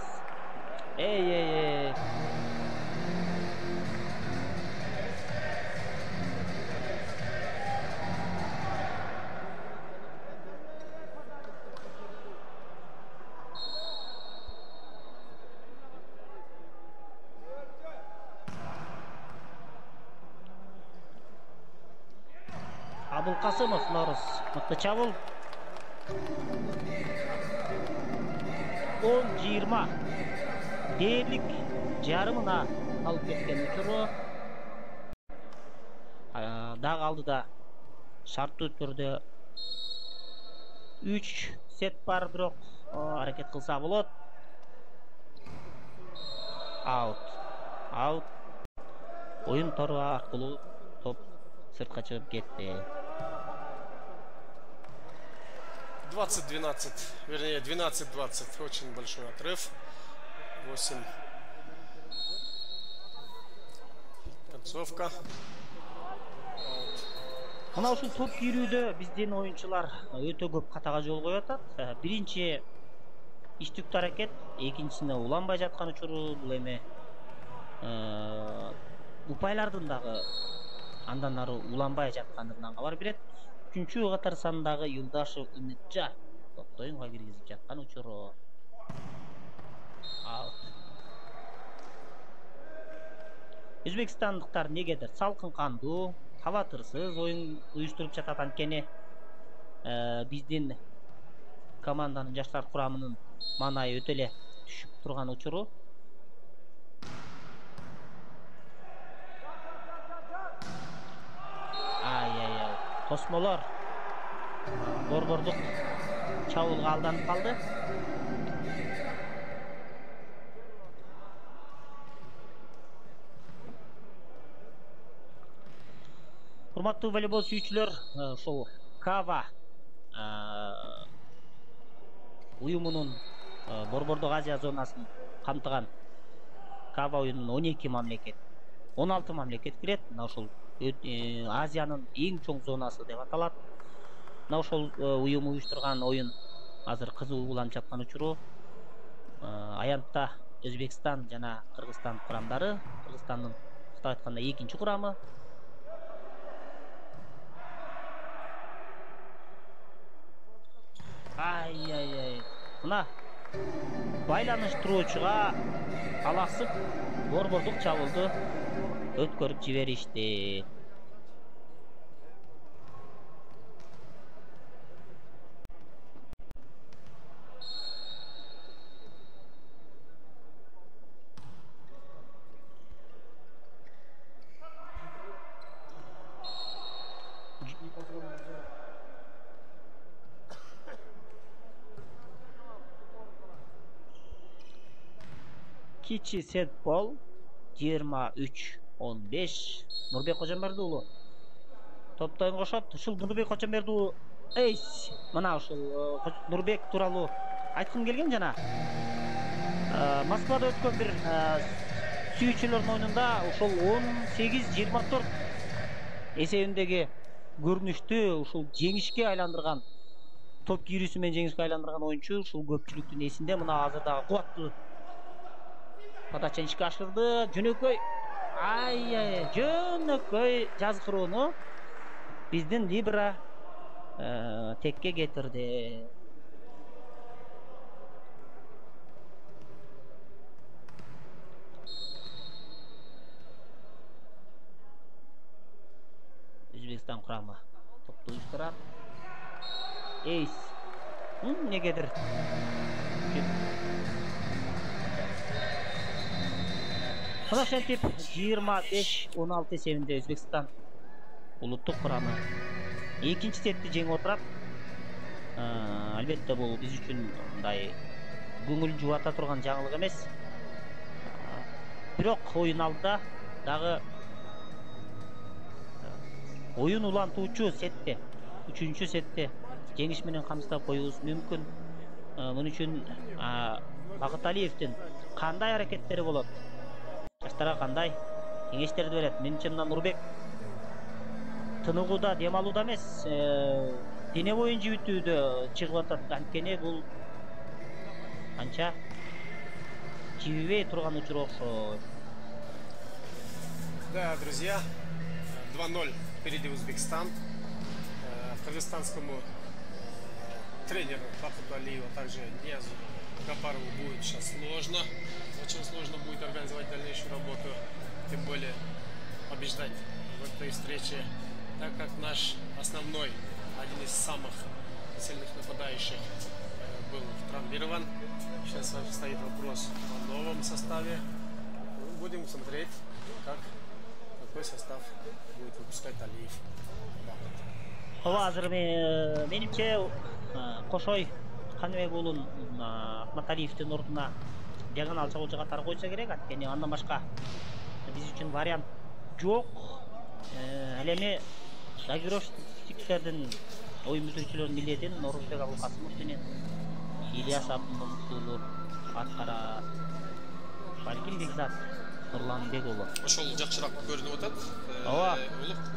Абылкасымов Норус мыкты чабул. 10-20 дээрлик жарымына алып кеткен учуру. Дагы алдыда шарттуу түрдө 3 сет бар, бирок аракет кылса болот. Аут. Оюн тору аркылуу топ сыртка чыгып кетти. 20-12, вернее 12-20, очень большой отрыв. 8. Концовка. Мына ушул топ кийрүүдө биздин оюнчулар өтө көп катага жол коюп атат. Биринчи иштиктүү аракет, экинчисине уланбай жаткан учуру, бул эми упайлардын дагы андан ары уланбай жаткандыгынан кабар берет. Үчүнчү катар сандагы Юлдашев Үмүтжан топто оюнга киргизип жаткан учуру. Өзбекстандыктар негедир салкын кандуу, табатырсыз оюн уюштуруп жатат. Анткени биздин команданын жаштар курамынын маанайы өтө эле түшүп турган учуру. Тосмолор борбордук чабуулга алданып калды. Урматтуу волейбол сүйүүчүлөр, ошол Кава уюмунун борбордук Азия зонасын камтыган Кава уюмунун 12 мамлекет, 16 мамлекет кирет. Мына ошол Азиянын эң чоң зонасы деп аталат. Мына ошол уюм уюштурган оюн азыр кызуу уланып жаткан учуру. Аянтта Өзбекстан жана Кыргызстан курамдары. Кыргызстандын кыскартып айтканда экинчи курамы. Мына байланыштыруучуга алаксып борбордук чабуулду өткөрүп жиберишти. Кичи сетбол 23-15. Нурбек Кожомберди уулу топто оюн кошот. Ушул Нурбек Кожомберди уулу мына ушул Нурбек тууралуу айткым келген жана Москвада өткөн бир сүйүүчүлөрдүн оюнунда ушул 18-24 эсебиндеги көрүнүштү ушул жеңишке айландырган, топ кийрүүсү менен жеңишке айландырган оюнчу ушул көпчүлүктүн эсинде. Мына азыр дагы кубаттуу подача ишке ашырды. Жөнөкөй жөнөкөй жазгырууну биздин Либра текке кетирди. Өзбекстан курамы топту уюштурат. Негедир мына ошентип 25-16 эсебинде Өзбекстан улуттук курамы экинчи сетти жеңип отурат. Албетте бул биз үчүн мындай көңүл жубата турган жаңылык эмес. Бирок оюн алдыда дагы оюн улантуучу сетте, 3-чү сетте жеңиш менен камсыздап коюубуз мүмкүн. Муну үчүн Багыталиевдин кандай аракеттери болот? Жаштарга кандай кеңештерди берет? Менимче мына Нурбек тыныгууда, дем алууда эмес, дене боюн жибитүүдө чыгып атат. Анткени бул анча жибибей турган учур окшойт. Да, друзья, 2-0 впереди Узбекистан. Кыргызстанскому тренеру Бакыту Алиеву, а также Ниязу Гапарову будет сейчас сложно. Очень сложно будет организовать дальнейшую работу, тем более побеждать в этой встрече, так как наш основной, один из самых сильных нападающих был травмирован. Сейчас стоит вопрос о новом составе. Будем смотреть, какой состав будет выпускать Алиев. Азыр менимче Кошой Каныбек уулун Ахматалиевдин ордуна диагонал чабуулчу катары койсо керек. Анткени андан башка биз үчүн вариант жок. Ал эми дагировщиктердин оюн бүтүрүүчүлөрдүн милдетин Норузбек Абылкасымов менен Ильяс Абдулмунусулу аткарат. Бекзат Нурланбек уулу. Ошол жакшыраак көрүнүп атат. Ооба.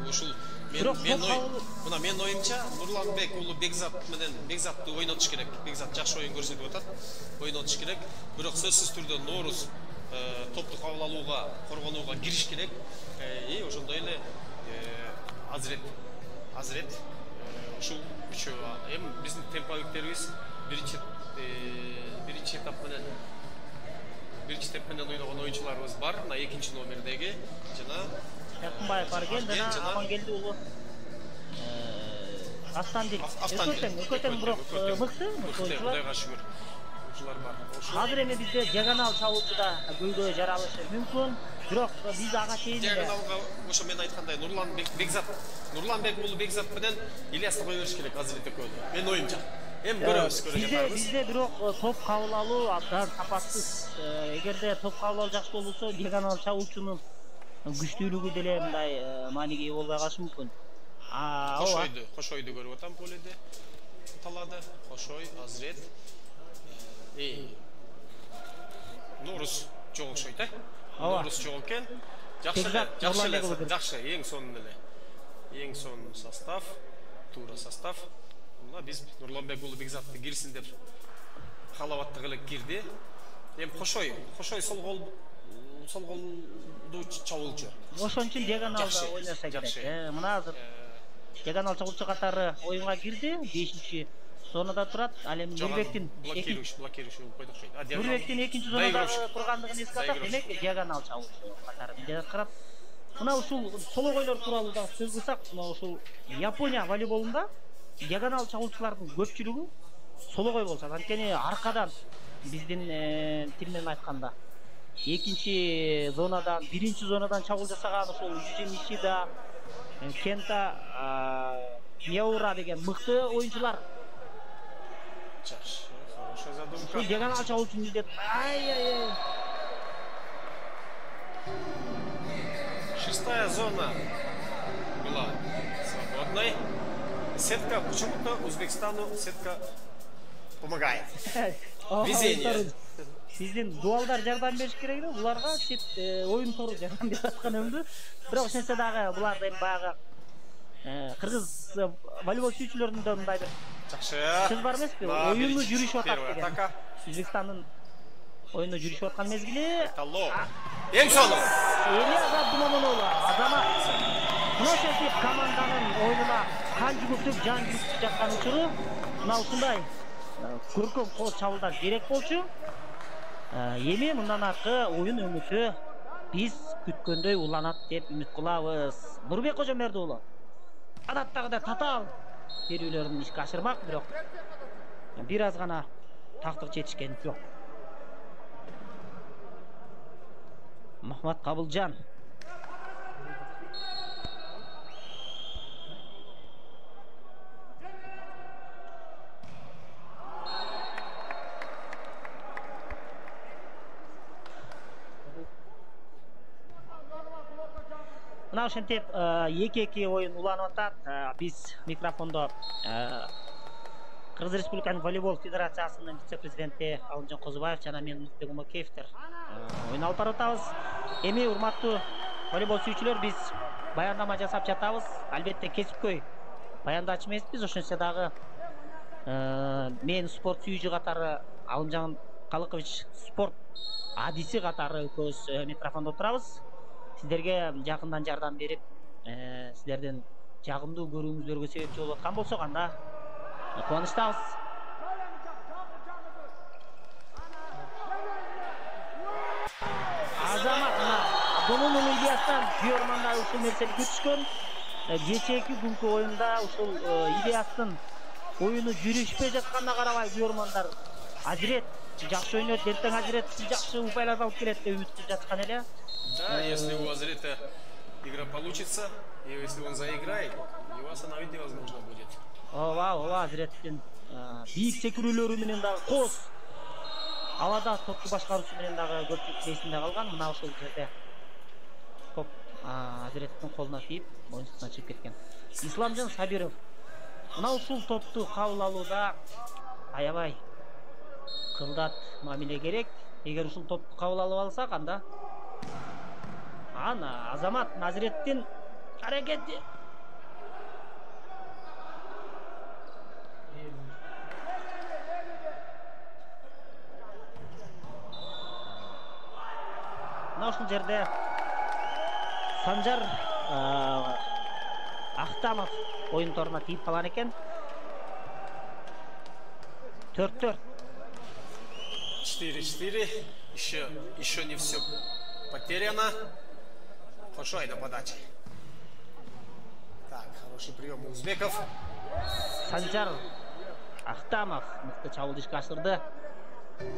Ушул Мына мен оюмча Нурланбек уулу Бекзат менен Бекзатты ойнотуш керек. Бекзат жакшы оюн көрсөтүп атат. Ойнотуш керек. Бирок сөзсүз түрдө Норус топту кабыл алууга, коргонууга кириш керек. Ошондой эле Азрет ушул үчөө эми биздин темповиктерибиз биринчи этап менен ойногон оюнчуларыбыз бар. Мына экинчи номердеги жана Якынбаев бар экен жана Амангелди уулу Автандил. Өкөтөң бирок мыкты ойунчулар. Кудайга шүгүр. Оюнчулар бар. Азыр эми бизде диагонал чабуучуда көйгөй жаралышы мүмкүн. Бирок биз ага чейин диагоналга ошо мен айткандай Нурланбек уулу Бекзат менен Ильясты кое бериш керек азыр экөөнү. Мен оюмча. Эми көрөбүз. Бизде бирок топ кабыл алуу абдан сапатсыз. Эгерде топ кабыл алуу жакшы болсо, диагонал чабуучунун күчтүүлүгү деле мындай мааниге ээ болбой калышы мүмкүн. Кошойду көрүп атам поледе. Талады. Кошой, Азрет. Нурус жок окшойт, Нурус жок экен. Жакшы, эң сонун эле. Эң сонун состав, туура состав. Мына биз Нурланбек уулу Бекзатты кирсин деп каалабаттык эле кирди. Эми Кошой сол голду чабуулчу. Ошон үчүн диагоналда ойноса керек. Мына азыр диагонал чабуулчу катары оюнга кирди. 5-чи зонада турат. Ал эми Нурбектин экинчи зонада тургандыгын эске алсак, демек диагонал чабуулчу катары жаткырат. Мына ушул сологойлор тууралуу да сөз кылсак, мына ушул Япония волейболунда диагонал чабуулчулардын көпчүлүгү сологой болушат. Анткени аркадан биздин тил менен айтканда экинчи зонадан, биринчи зонадан чабуул жасаган ошол Южи Нишида, Кента, Мияура деген мыкты оюнчулар. Жакшы, хорошая задумка. Ушул диагонал чабуучу милдет. Шестая зона была свободной. Сетка, почему-то Узбекистану сетка помогает. Везение. Биздин дуалдар жардам бериш керек эле, буларга оюн тору жардам берип аткан өңдү. Бирок ошентсе дагы булар эми баягы кыргыз волейбол сүйүүчүлөрүнүн да мындай бир жакшы сөз бар эмеспи? Оюну жүрүшүп атат деген. Өзбекстандын оюну жүрүшүп аткан мезгили. Эң сонун. Азат Думамонов, Азамат. Мына ошентип команданын оюнуна кан жүгүртүп, жан жүгүртүп жаткан учуру мына ушундай көркөм кол чабуулдар керек болчу. Эми мындан аркы оюн өңүтү биз күткөндөй уланат деп үмүт кылабыз. Нурбек Кожомберди уулу адаттагыдай татаал берүүлөрүн ишке ашырмак, бирок бир аз гана тактык жетишкен жок. Махмат Кабылжан. Мына ошентип 2-2 оюн уланып атат. Биз микрофондо Кыргыз Республиканын волейбол федерациясынын вице-президенти Алымжан Козубаев жана мен Муздек Умакеевтер оюн алып баратабыз. Эми урматтуу волейбол сүйүүчүлөр, биз баяндама жасап жатабыз. Албетте кесипкөй баяндачы эмеспиз, ошентсе дагы мен спорт сүйүүчү катары Алымжан Калыкович спорт адиси катары экөөбүз микрофондо турабыз. Сиздерге жакындан жардам берип, сиздердин жагымдуу көрүүңүздөргө себепчи болуп аткан болсок, анда кубанычтабыз. Азамат Абдулмунун Ильястан Бүйөрманда ушул нерсени күтүшкөн. Кечээки күнкү оюнда ушул Ильястын оюну жүрүшпөй жатканына карабай Бүйөрмандар Азирет жакшы ойнойт, эртең Азирет жакшы упайларды алып келет деп үмүттөнүп жаткан эле. Да, если у Азрета игра получится, и если он заиграет, его остановить невозможно будет. Ооба, Азреттин бийик секирүүлөрү менен дагы кос авада топту башкаруусу менен дагы көпчүлүк эсинде калган. Мына ошол жерде топ Азреттин колуна тийип, оюнчусуна чыгып кеткен. Исламжан Сабиров мына ушул топту кабыл алууда аябай кылдат мамиле керек. Эгер ушул топту кабыл алып алсак, анда ана Азамат Назиреттин аракети. Мына ушул жерде Санжар Ахтамов оюн торуна тийип калган экен. 4-4. 4-4. Еще не все потеряно. Хорошо, это подача. Так, хороший прием у узбеков. Санжар Ахтамов мыкты чабуул ишке ашырды.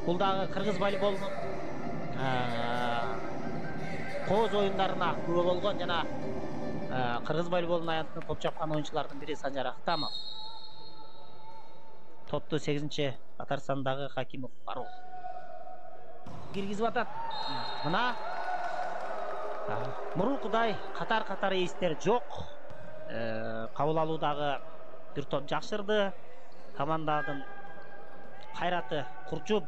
Бул дагы кыргыз волейболунун кооз оюндарына күбө болгон жана кыргыз волейболунун аянтына топ чапкан оюнчулардын бири Санжар Ахтамов. Топту 8-катар сандагы Хакимов Фарук киргизип атат. Мына мурункудай катар эстер жок. Кабыл алуудагы бир топ жакшырды. Командадын кайраты курчуп,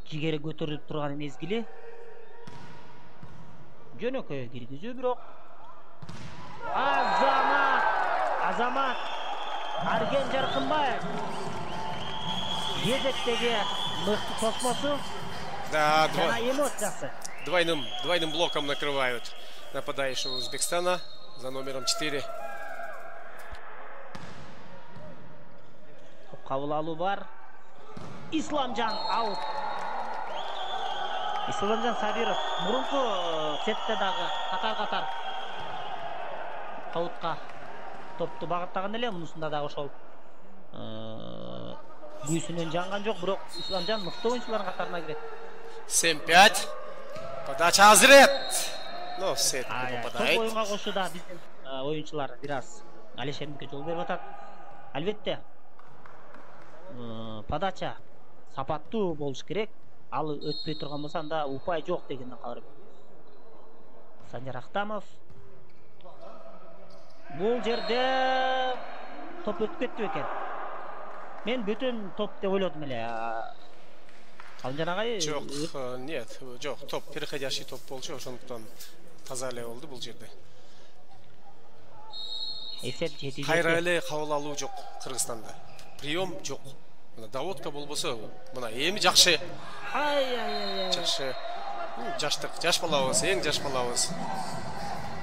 жигери көтөрүлүп турган мезгили. Жөнөкөй киргизүү бирок Азамат Арген Жаркынбаев кезектеги мыкты тосмосу. Да, эмоциясы. Двойным блоком накрывают нападающего Узбекистана за номером 4. Кабыл алуу бар. Исламжан аут. Исламжан Сабиров мурунку сетте дагы катар аутка топту багыттаган эле. Мунусунда дагы ошол күйүүсүнөн жанган жок, бирок Исламжан мыкты оюнчулардын катарына кирет. 7-5. Подача Азрет. Но сет попадает. Топ оюнга кошууда биздин оюнчулар бир аз Алишериновке жол берип атат. Албетте подача сапаттуу болуш керек. Ал өтпөй турган болсо анда упай жок дегенден калыр. Санжар Ахтамов бул жерде топ өтүп кетти экен. Мен бүтүн топ деп ойлодум эле. Калжан агай? Жок, нет, жок, топ, переходящий топ болчу, ошондуктан таза эле болду бул жерде. Эсеп 7-7. Кайра эле кабыл алуу жок Кыргызстанда. Прием жок. Мына даводка болбосо, мына эми жакшы. Жакшы. Жаштык, жаш балабыз, эң жаш балабыз.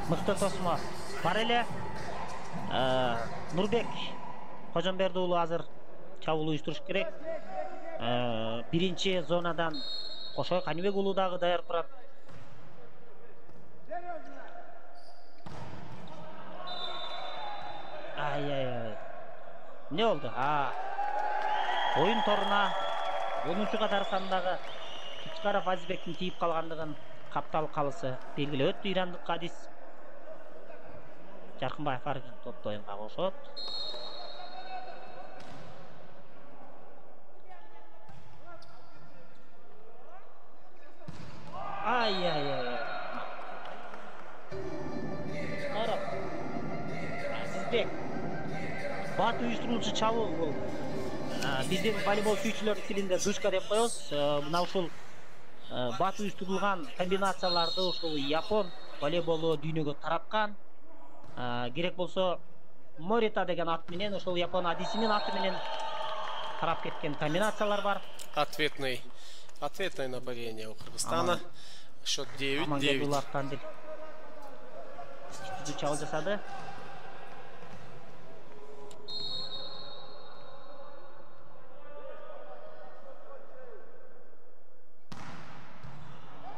Мыкты тосмо. Бар эле. Нурбек Кожомберди уулу азыр чабуул уюштуруш керек. Биринчи зонадан Кошой Канибек уулу дагы даяр турат. Не болду? Оюн торуна 10-катар сандагы Кичкаров Азизбектин тийип калгандыгын каптал калысы белгилеп өттү ирандык Кадис. Жаркынбаев Арген топту оюнга кошот. Азизбек бат уюштуруучу чабуул бул. Биздин волейбол сүйүүчүлөрдүн тилинде душка деп коебуз. Мына ушул бат уюштурулган комбинацияларды ушул Япон волейболу дүйнөгө тараткан. Керек болсо Морита деген ат менен ошол Япон адисинин аты менен тарап кеткен комбинациялар бар. Ответное нападение у Кыргызстана. Счет 9-9. Чабуул жасады.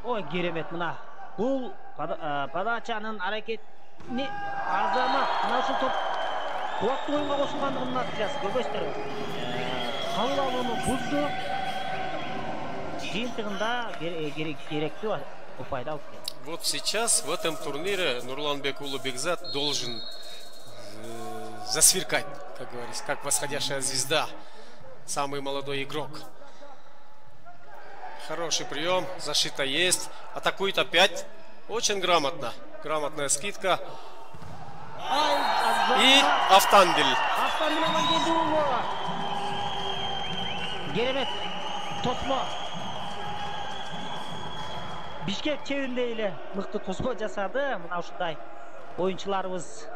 Ой, керемет мына. Бул подачанын аракетини Азамат мына ушул топ кубаттуу оюнга кошулгандыгынын натыйжасы көбөстөр. Кабыл алууну бузду. Жыйынтыгында керектүү упайды алып келди. Вот сейчас в этом турнире Нурланбек уулу Бекзат должен засверкать, как говорится, как восходящая звезда. Самый молодой игрок. Хороший прием, защита есть. Атакует опять. Очень грамотно. Грамотная скидка. И Автандель. Керемет. Тосмо. Бишкек чебинде эле мыкты тосмо жасады. Мына ушундай оюнчуларыбыз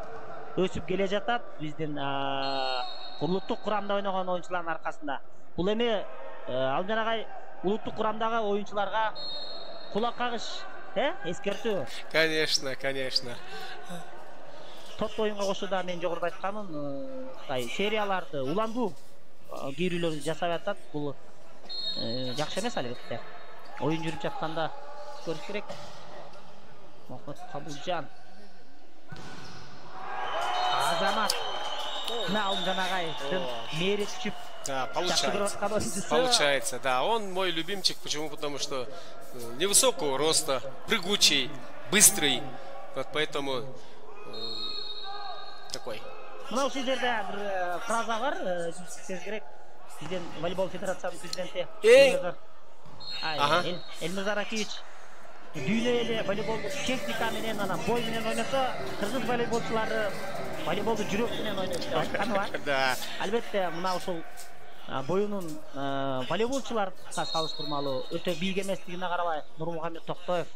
өсүп келе жатат биздин улуттук курамда ойногон оюнчулардын аркасында. Бул эми Алымжан агай улуттук курамдагы оюнчуларга кулак кагыш, эскертүү. Конечно, конечно. Топ оюнга кошууда мен жогоруда айтканмын, серияларды уландуу кийрүүлөрдү жасап атат. Бул жакшы эмес албетте. Оюн жүрүп жатканда көрүш керек. Мохмед Кабылжан. Азамат. Мына Алымжан агайдын мээри түшүп. Да, получается, да. Он мой любимчик. Почему? Потому что невысокого роста, прыгучий, быстрый. Вот поэтому такой. Мына ушул жерде бир фраза бар, сиз керек. Биздин волейбол федерациянын президенти Элмир Аракевич дүйнө эле волейболду техника менен, анан бой менен ойносо, кыргыз волейболчулары волейболду жүрөк менен ойнойт деп айтканы бар. Да. Албетте, мына ушул боюнун волейболчуларга салыштырмалуу өтө бийик эместигине карабай, Нурмухамед Токтоев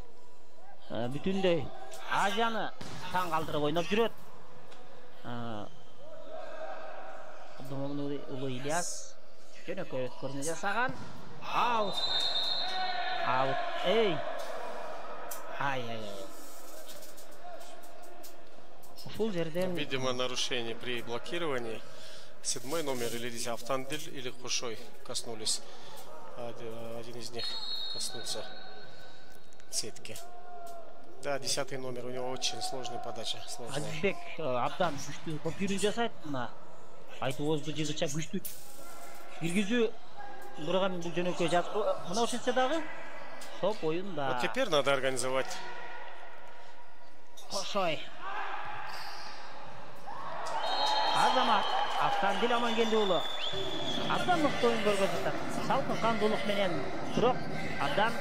бүтүндөй Азияны таң калтырып ойноп жүрөт. Абдумомун уулу Ильяс жөнөкөй өткөрмө жасаган. Аут. Ушул жерден, видимо, нарушение при блокировании. 7-й номер или здесь Автандиль или Кушой коснулись. Один из них коснулся сетки. Да, 10-й номер, у него очень сложная подача. Азизбек абдан күчтүү топ кирүү жасайт. Мына айтыбызды жыгыча күчтүү киргизүү бурган бул жөнөкөй жазып. Мына ошентсе дагы топ оюнда. Вот теперь надо организовать. Кошой. Азамат Автандил Амангелди уулу абдан мыкты оюн көргөзүп атат. Салкын кандуулук менен бирок абдан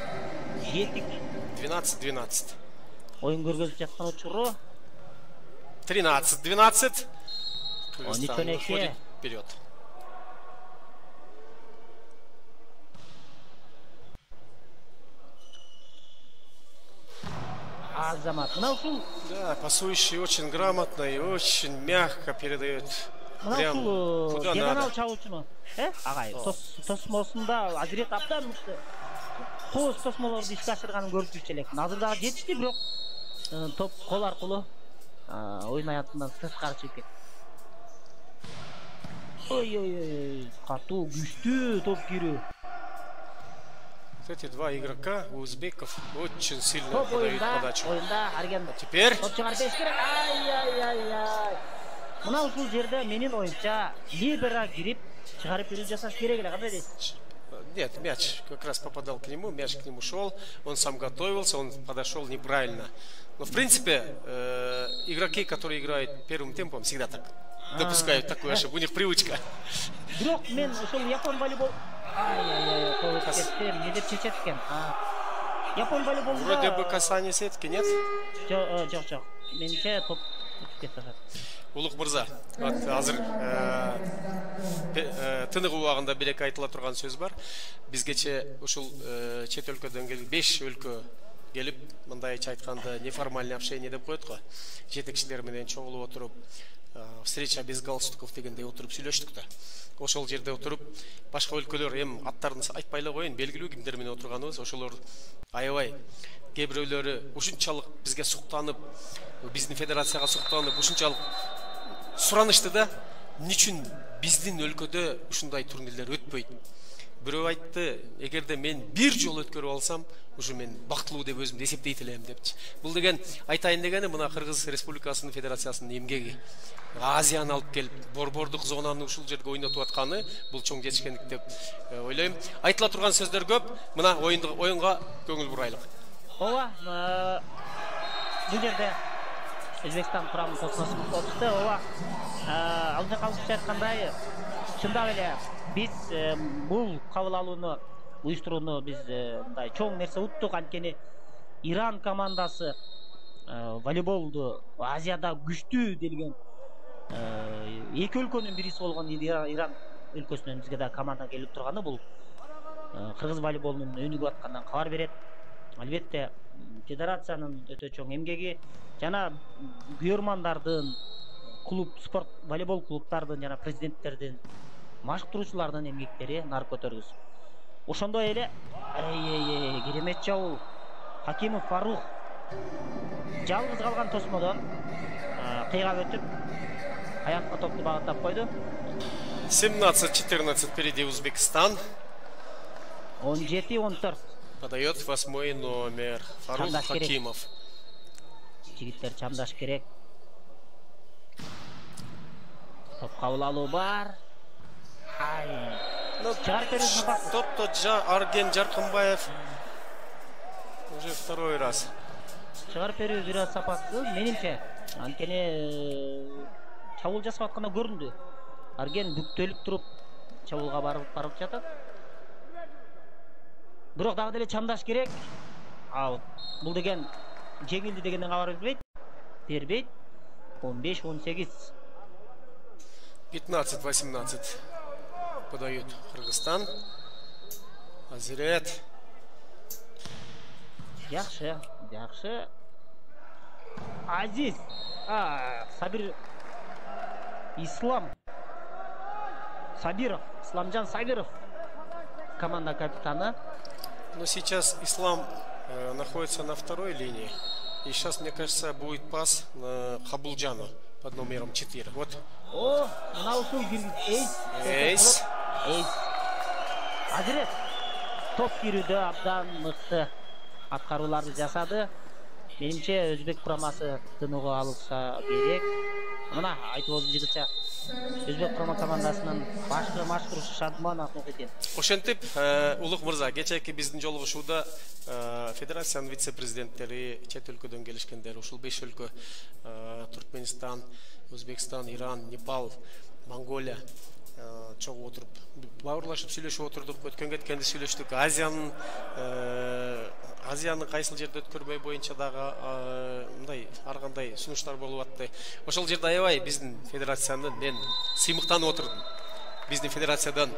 жетик. 12-12. Оюн көргөзүп жаткан учуру 13-12. Кыргызстан выходит вперед. Азамат. Мына ушул, да, пасующий очень грамотно и очень мягко передает. Мына ушул диагонал чабуучуну, агай, тосмосунда азирет абдан мыкты. Кооз тосмолорду ишке ашырганын көрүп жүрчү элек. Азыр дагы жетишти, бирок топ кол аркылуу оюн аянтынан тышкары чыгып кетти. Ой, катуу, күчтүү топ кирүү. Эти два игрока узбеков очень сильно подают подачу. Теперь топ чыгарып бериш керек. Ай. Мына ушул жерде менин оюмча либера кирип чыгарып берүү жасаш керек эле, кандай дейсиз? Нет, мяч как раз попадал к нему, мяч к нему шел, он сам готовился, он подошел неправильно. Но в принципе игроки, которые играют первым темпом, всегда так допускают такую ошибку, у них привычка. Бирок мен ошол япон волейбол не деп чечет экен. Япон волейболунда вроде бы касание сетки, нет? Жок. Менимче топ кетип атат. Улук мырза, азыр тынык убагында белек айтыла турган сөз бар. Бизгече ушул чет өлкөдөн келип 5 өлкө келип, мындайча айтканда неформальный общение деп коет го. Жетекчилер менен чогулуп отуруп, встреча без галстуков дегендей отуруп сүйлөштүк да. Ошол жерде отуруп, башка өлкөлөр эми аттарын айтпай эле коеюн, белгилүү кимдер менен отурганыбыз, ошолор аябай кээ бирөөлөрү ушунчалык бизге суктанып, биздин федерацияга суктанып, ушунчалык суранышты да, эмне үчүн биздин өлкөдө ушундай турнирлер өтпөйт? Бирөө айтты, эгерде мен бир жолу өткөрүп алсам, ушу мен бактылуу деп өзүмдү эсептейт элем депчи. Бул деген айтайын дегени мына Кыргыз Республикасынын федерациясынын эмгеги. Азияны алып келип, борбордук зонаны ушул жерге ойнотуп атканы бул чоң жетишкендик деп ойлойм. Айтыла турган сөздөр көп. Мына оюнга көңүл бурайлык. Ооба, бул жерде Өзбекстан курамын тосмосу болчу. Ооба, Алымжан Кабылжан айткандай, чындап эле биз бул кабыл алууну уюштурууну биз мындай чоң нерсе уттук. Анткени Иран командасы волейболду Азияда күчтүү делген эки өлкөнүн бириси болгон Иран өлкөсүнөн бизге да команда келип турганы бул кыргыз волейболунун өнүгүп атканынан кабар берет. албетте федерациянын өтө чоң эмгеги жана күйөрмандардын, клуб, спорт, волейбол клубтардын жана президенттердин, машыктыруучулардын эмгектери нар көтөргүс. Ошондой эле керемет жабуул. Хакимов Фарух жалгыз калган тосмодон кыйгап өтүп, аякка топту багыттап койду. 17-14 впереди Узбекистан. 17-14. Подает 8-й номер Фарух Хакимов. Жигиттер чамдаш керек. Топ кабыл алуу бар. Чыгарып берүүсүн бак. Топто Арген Жаркынбаев. Уже второй раз. Чыгарып берүү бир аз сапаттуу, менимче. Анткени чабуул жасап атканда көрүндү. Арген бүктөлүп туруп чабуулга барып жатат. Бирок дагы деле чамдаш керек. Бул деген жеңилди дегенден кабар бербейт. 15-18. 15-18 подают Кыргызстан. Азирет. Жакшы. Азиз. Сабир Сабиров, Исламжан Сабиров, команда капитаны. Но сейчас Ислам находится на второй линии. И сейчас, мне кажется, будет пас на Хабулджану под номером 4. Вот. Мына ушул Эйс. Азирет топ кирүүдө абдан мыкты аткарууларды жасады. Менимче өзбек курамасы тынууга алышса керек. Мына айтып болду жигитча. Өзбек курама командасынын башкы машкурушу Шадман Ахмедин. Ошентип, Улук мырза, кечээки биздин жолугушууда федерациянын вице-президенттери чет өлкөдөн келишкендер, ушул 5 өлкө Туркменистан, Өзбекстан, Иран, Непал, Монголия чогуу отуруп бауырлашып сүйлөшүп отурдук. Өткөн кеткенде сүйлөштүк. Азиянын кайсыл жерде өткөрбөй боюнча дагы мындай ар кандай сунуштар болуп атты. Ошол жерде аябай биздин федерациянын мен сыймыктанып отурдум. Биздин федерациядан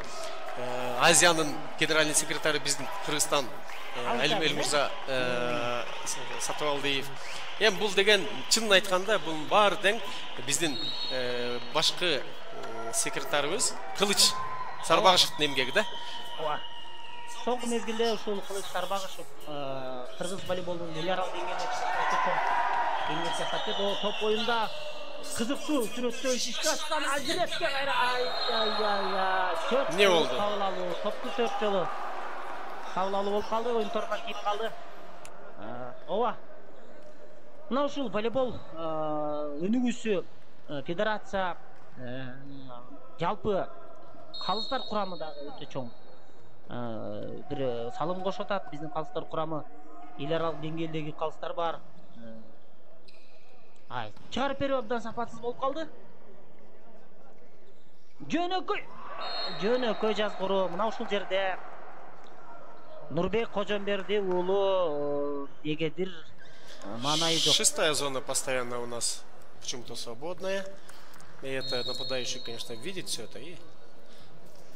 Азиянын генеральный секретары биздин Кыргызстан Элмел мырза Сатыбалдиев. Эми бул деген чынын айтканда бул баары тең биздин башкы секретарыбыз Кылыч Сарбагышевдин эмгеги да. Соңку мезгилде ушул Кылыч Сарбагышев кыргыз волейболунун миллиард деңгээлде сатты. Топ оюнда кызыктуу сүрөттөө ишке аткан Азиретке не болду? Топту 4 жолу кабыл алуу болуп калды, оюн торга кирип калды. Мына ушул волейбол өнүгүүсү федерация жалпы калыстар курамы дагы өтө чоң. Бир салым кошуп атат. Биздин калыстар курамы эл аралык деңгээлдеги калыстар бар. Чыгарып берүү абдан сапатсыз болуп калды. Жөнөкөй жазгыруу. Мына ушул жерде Нурбек Кожомберди уулу эгедир маанайы жок. 6-я зона постоянно у нас почему-то свободная. И это нападающий, конечно, видит все это и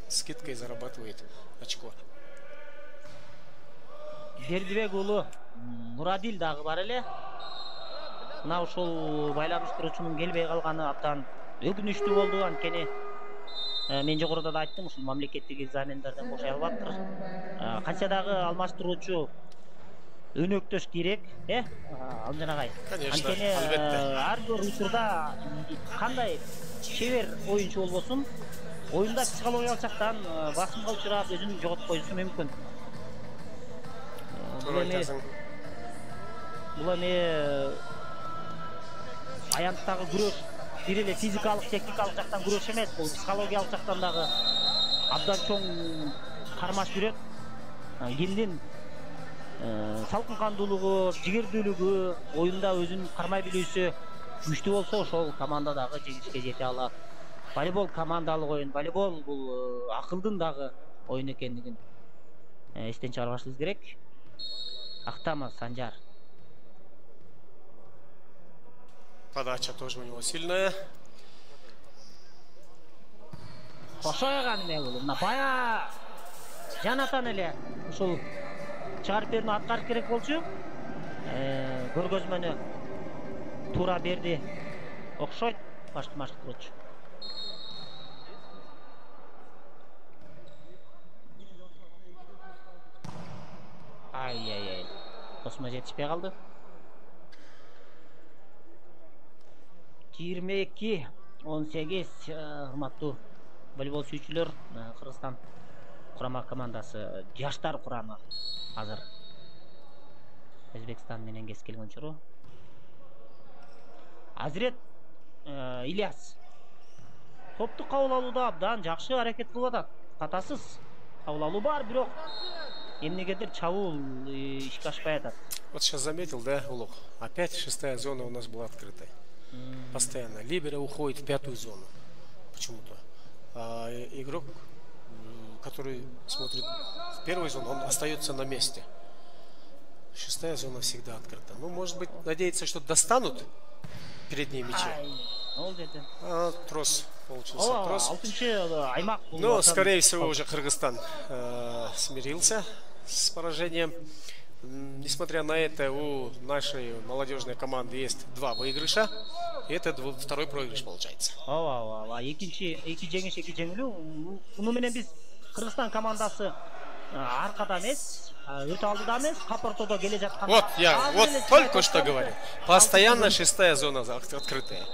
скидкой зарабатывает очко. Бердибек уулу Мурадил дагы бар эле. Мына ушул байланыштыруучунун келбей калганы абдан өкүнүчтүү болду. Анткени мен жогоруда да айттым, ушул мамлекеттик экзамендерден бошой албаптыр. Канча дагы алмаштыруучу өнөктөш керек, Алмжан агай. Конечно, анткени ар бир учурда кандай чебер оюнчу болбосун, оюнда психологиялык жактан басымга учурап өзүн жоготуп коюшу мүмкүн. Бул эми аянттагы күрөш бир эле физикалык, техникалык жактан күрөш эмес, бул психологиялык жактан дагы абдан чоң кармаш жүрөт. Кимдин салкын кандуулугу, жигердүүлүгү, оюнда өзүн кармай билүүсү күчтүү болсо, ошол команда дагы жеңишке жете алат. Волейбол командалык оюн, волейбол бул акылдын дагы оюн экендигин эстен чыгарбашыбыз керек. Ахтамов Санжар. Подача тоже у него сильная. Кошойган эме бул. Бая Жанатан эле ушул чыгарып берүүнү аткарыш керек болчу. Көргөзмөнү туура берди. Окшойт башкырчу. Ай. Тосмо жетишпей калды. 22-18 урматтуу волейбол сүйүүчүлөр, Кыргызстан курама командасы жаштар курамы азыр Өзбекстан менен кескилген учуру. Азирет Ильяс топту кабыл алууда абдан жакшы аракет кылып атат. Катасыз кабыл алуу бар, бирок эмнегедир чабуул ишке ашпай атат. Вот сейчас заметил, да, Улук? Опять 6-я зона у нас была открытой. Постоянно. Либеро уходит в 5-ю зону. Почему-то. А игрок, который смотрит в 1-ю зону, он остается на месте. 6-я зона всегда открыта. Ну, может быть, надеяться, что достанут передние мячи. Трос получился. Трос. Но, скорее всего, уже Кыргызстан смирился с поражением. Несмотря на это, у нашей молодежной команды есть 2 выигрыша. И это 2-й проигрыш получается. Эки жеңиш, эки жеңилүү. Муну менен биз Кыргызстан командасы аркада эмес, өтө алдыда эмес, капортодо келе жаткан. Вот я только что говорил. Постоянно 6-я зона открытая.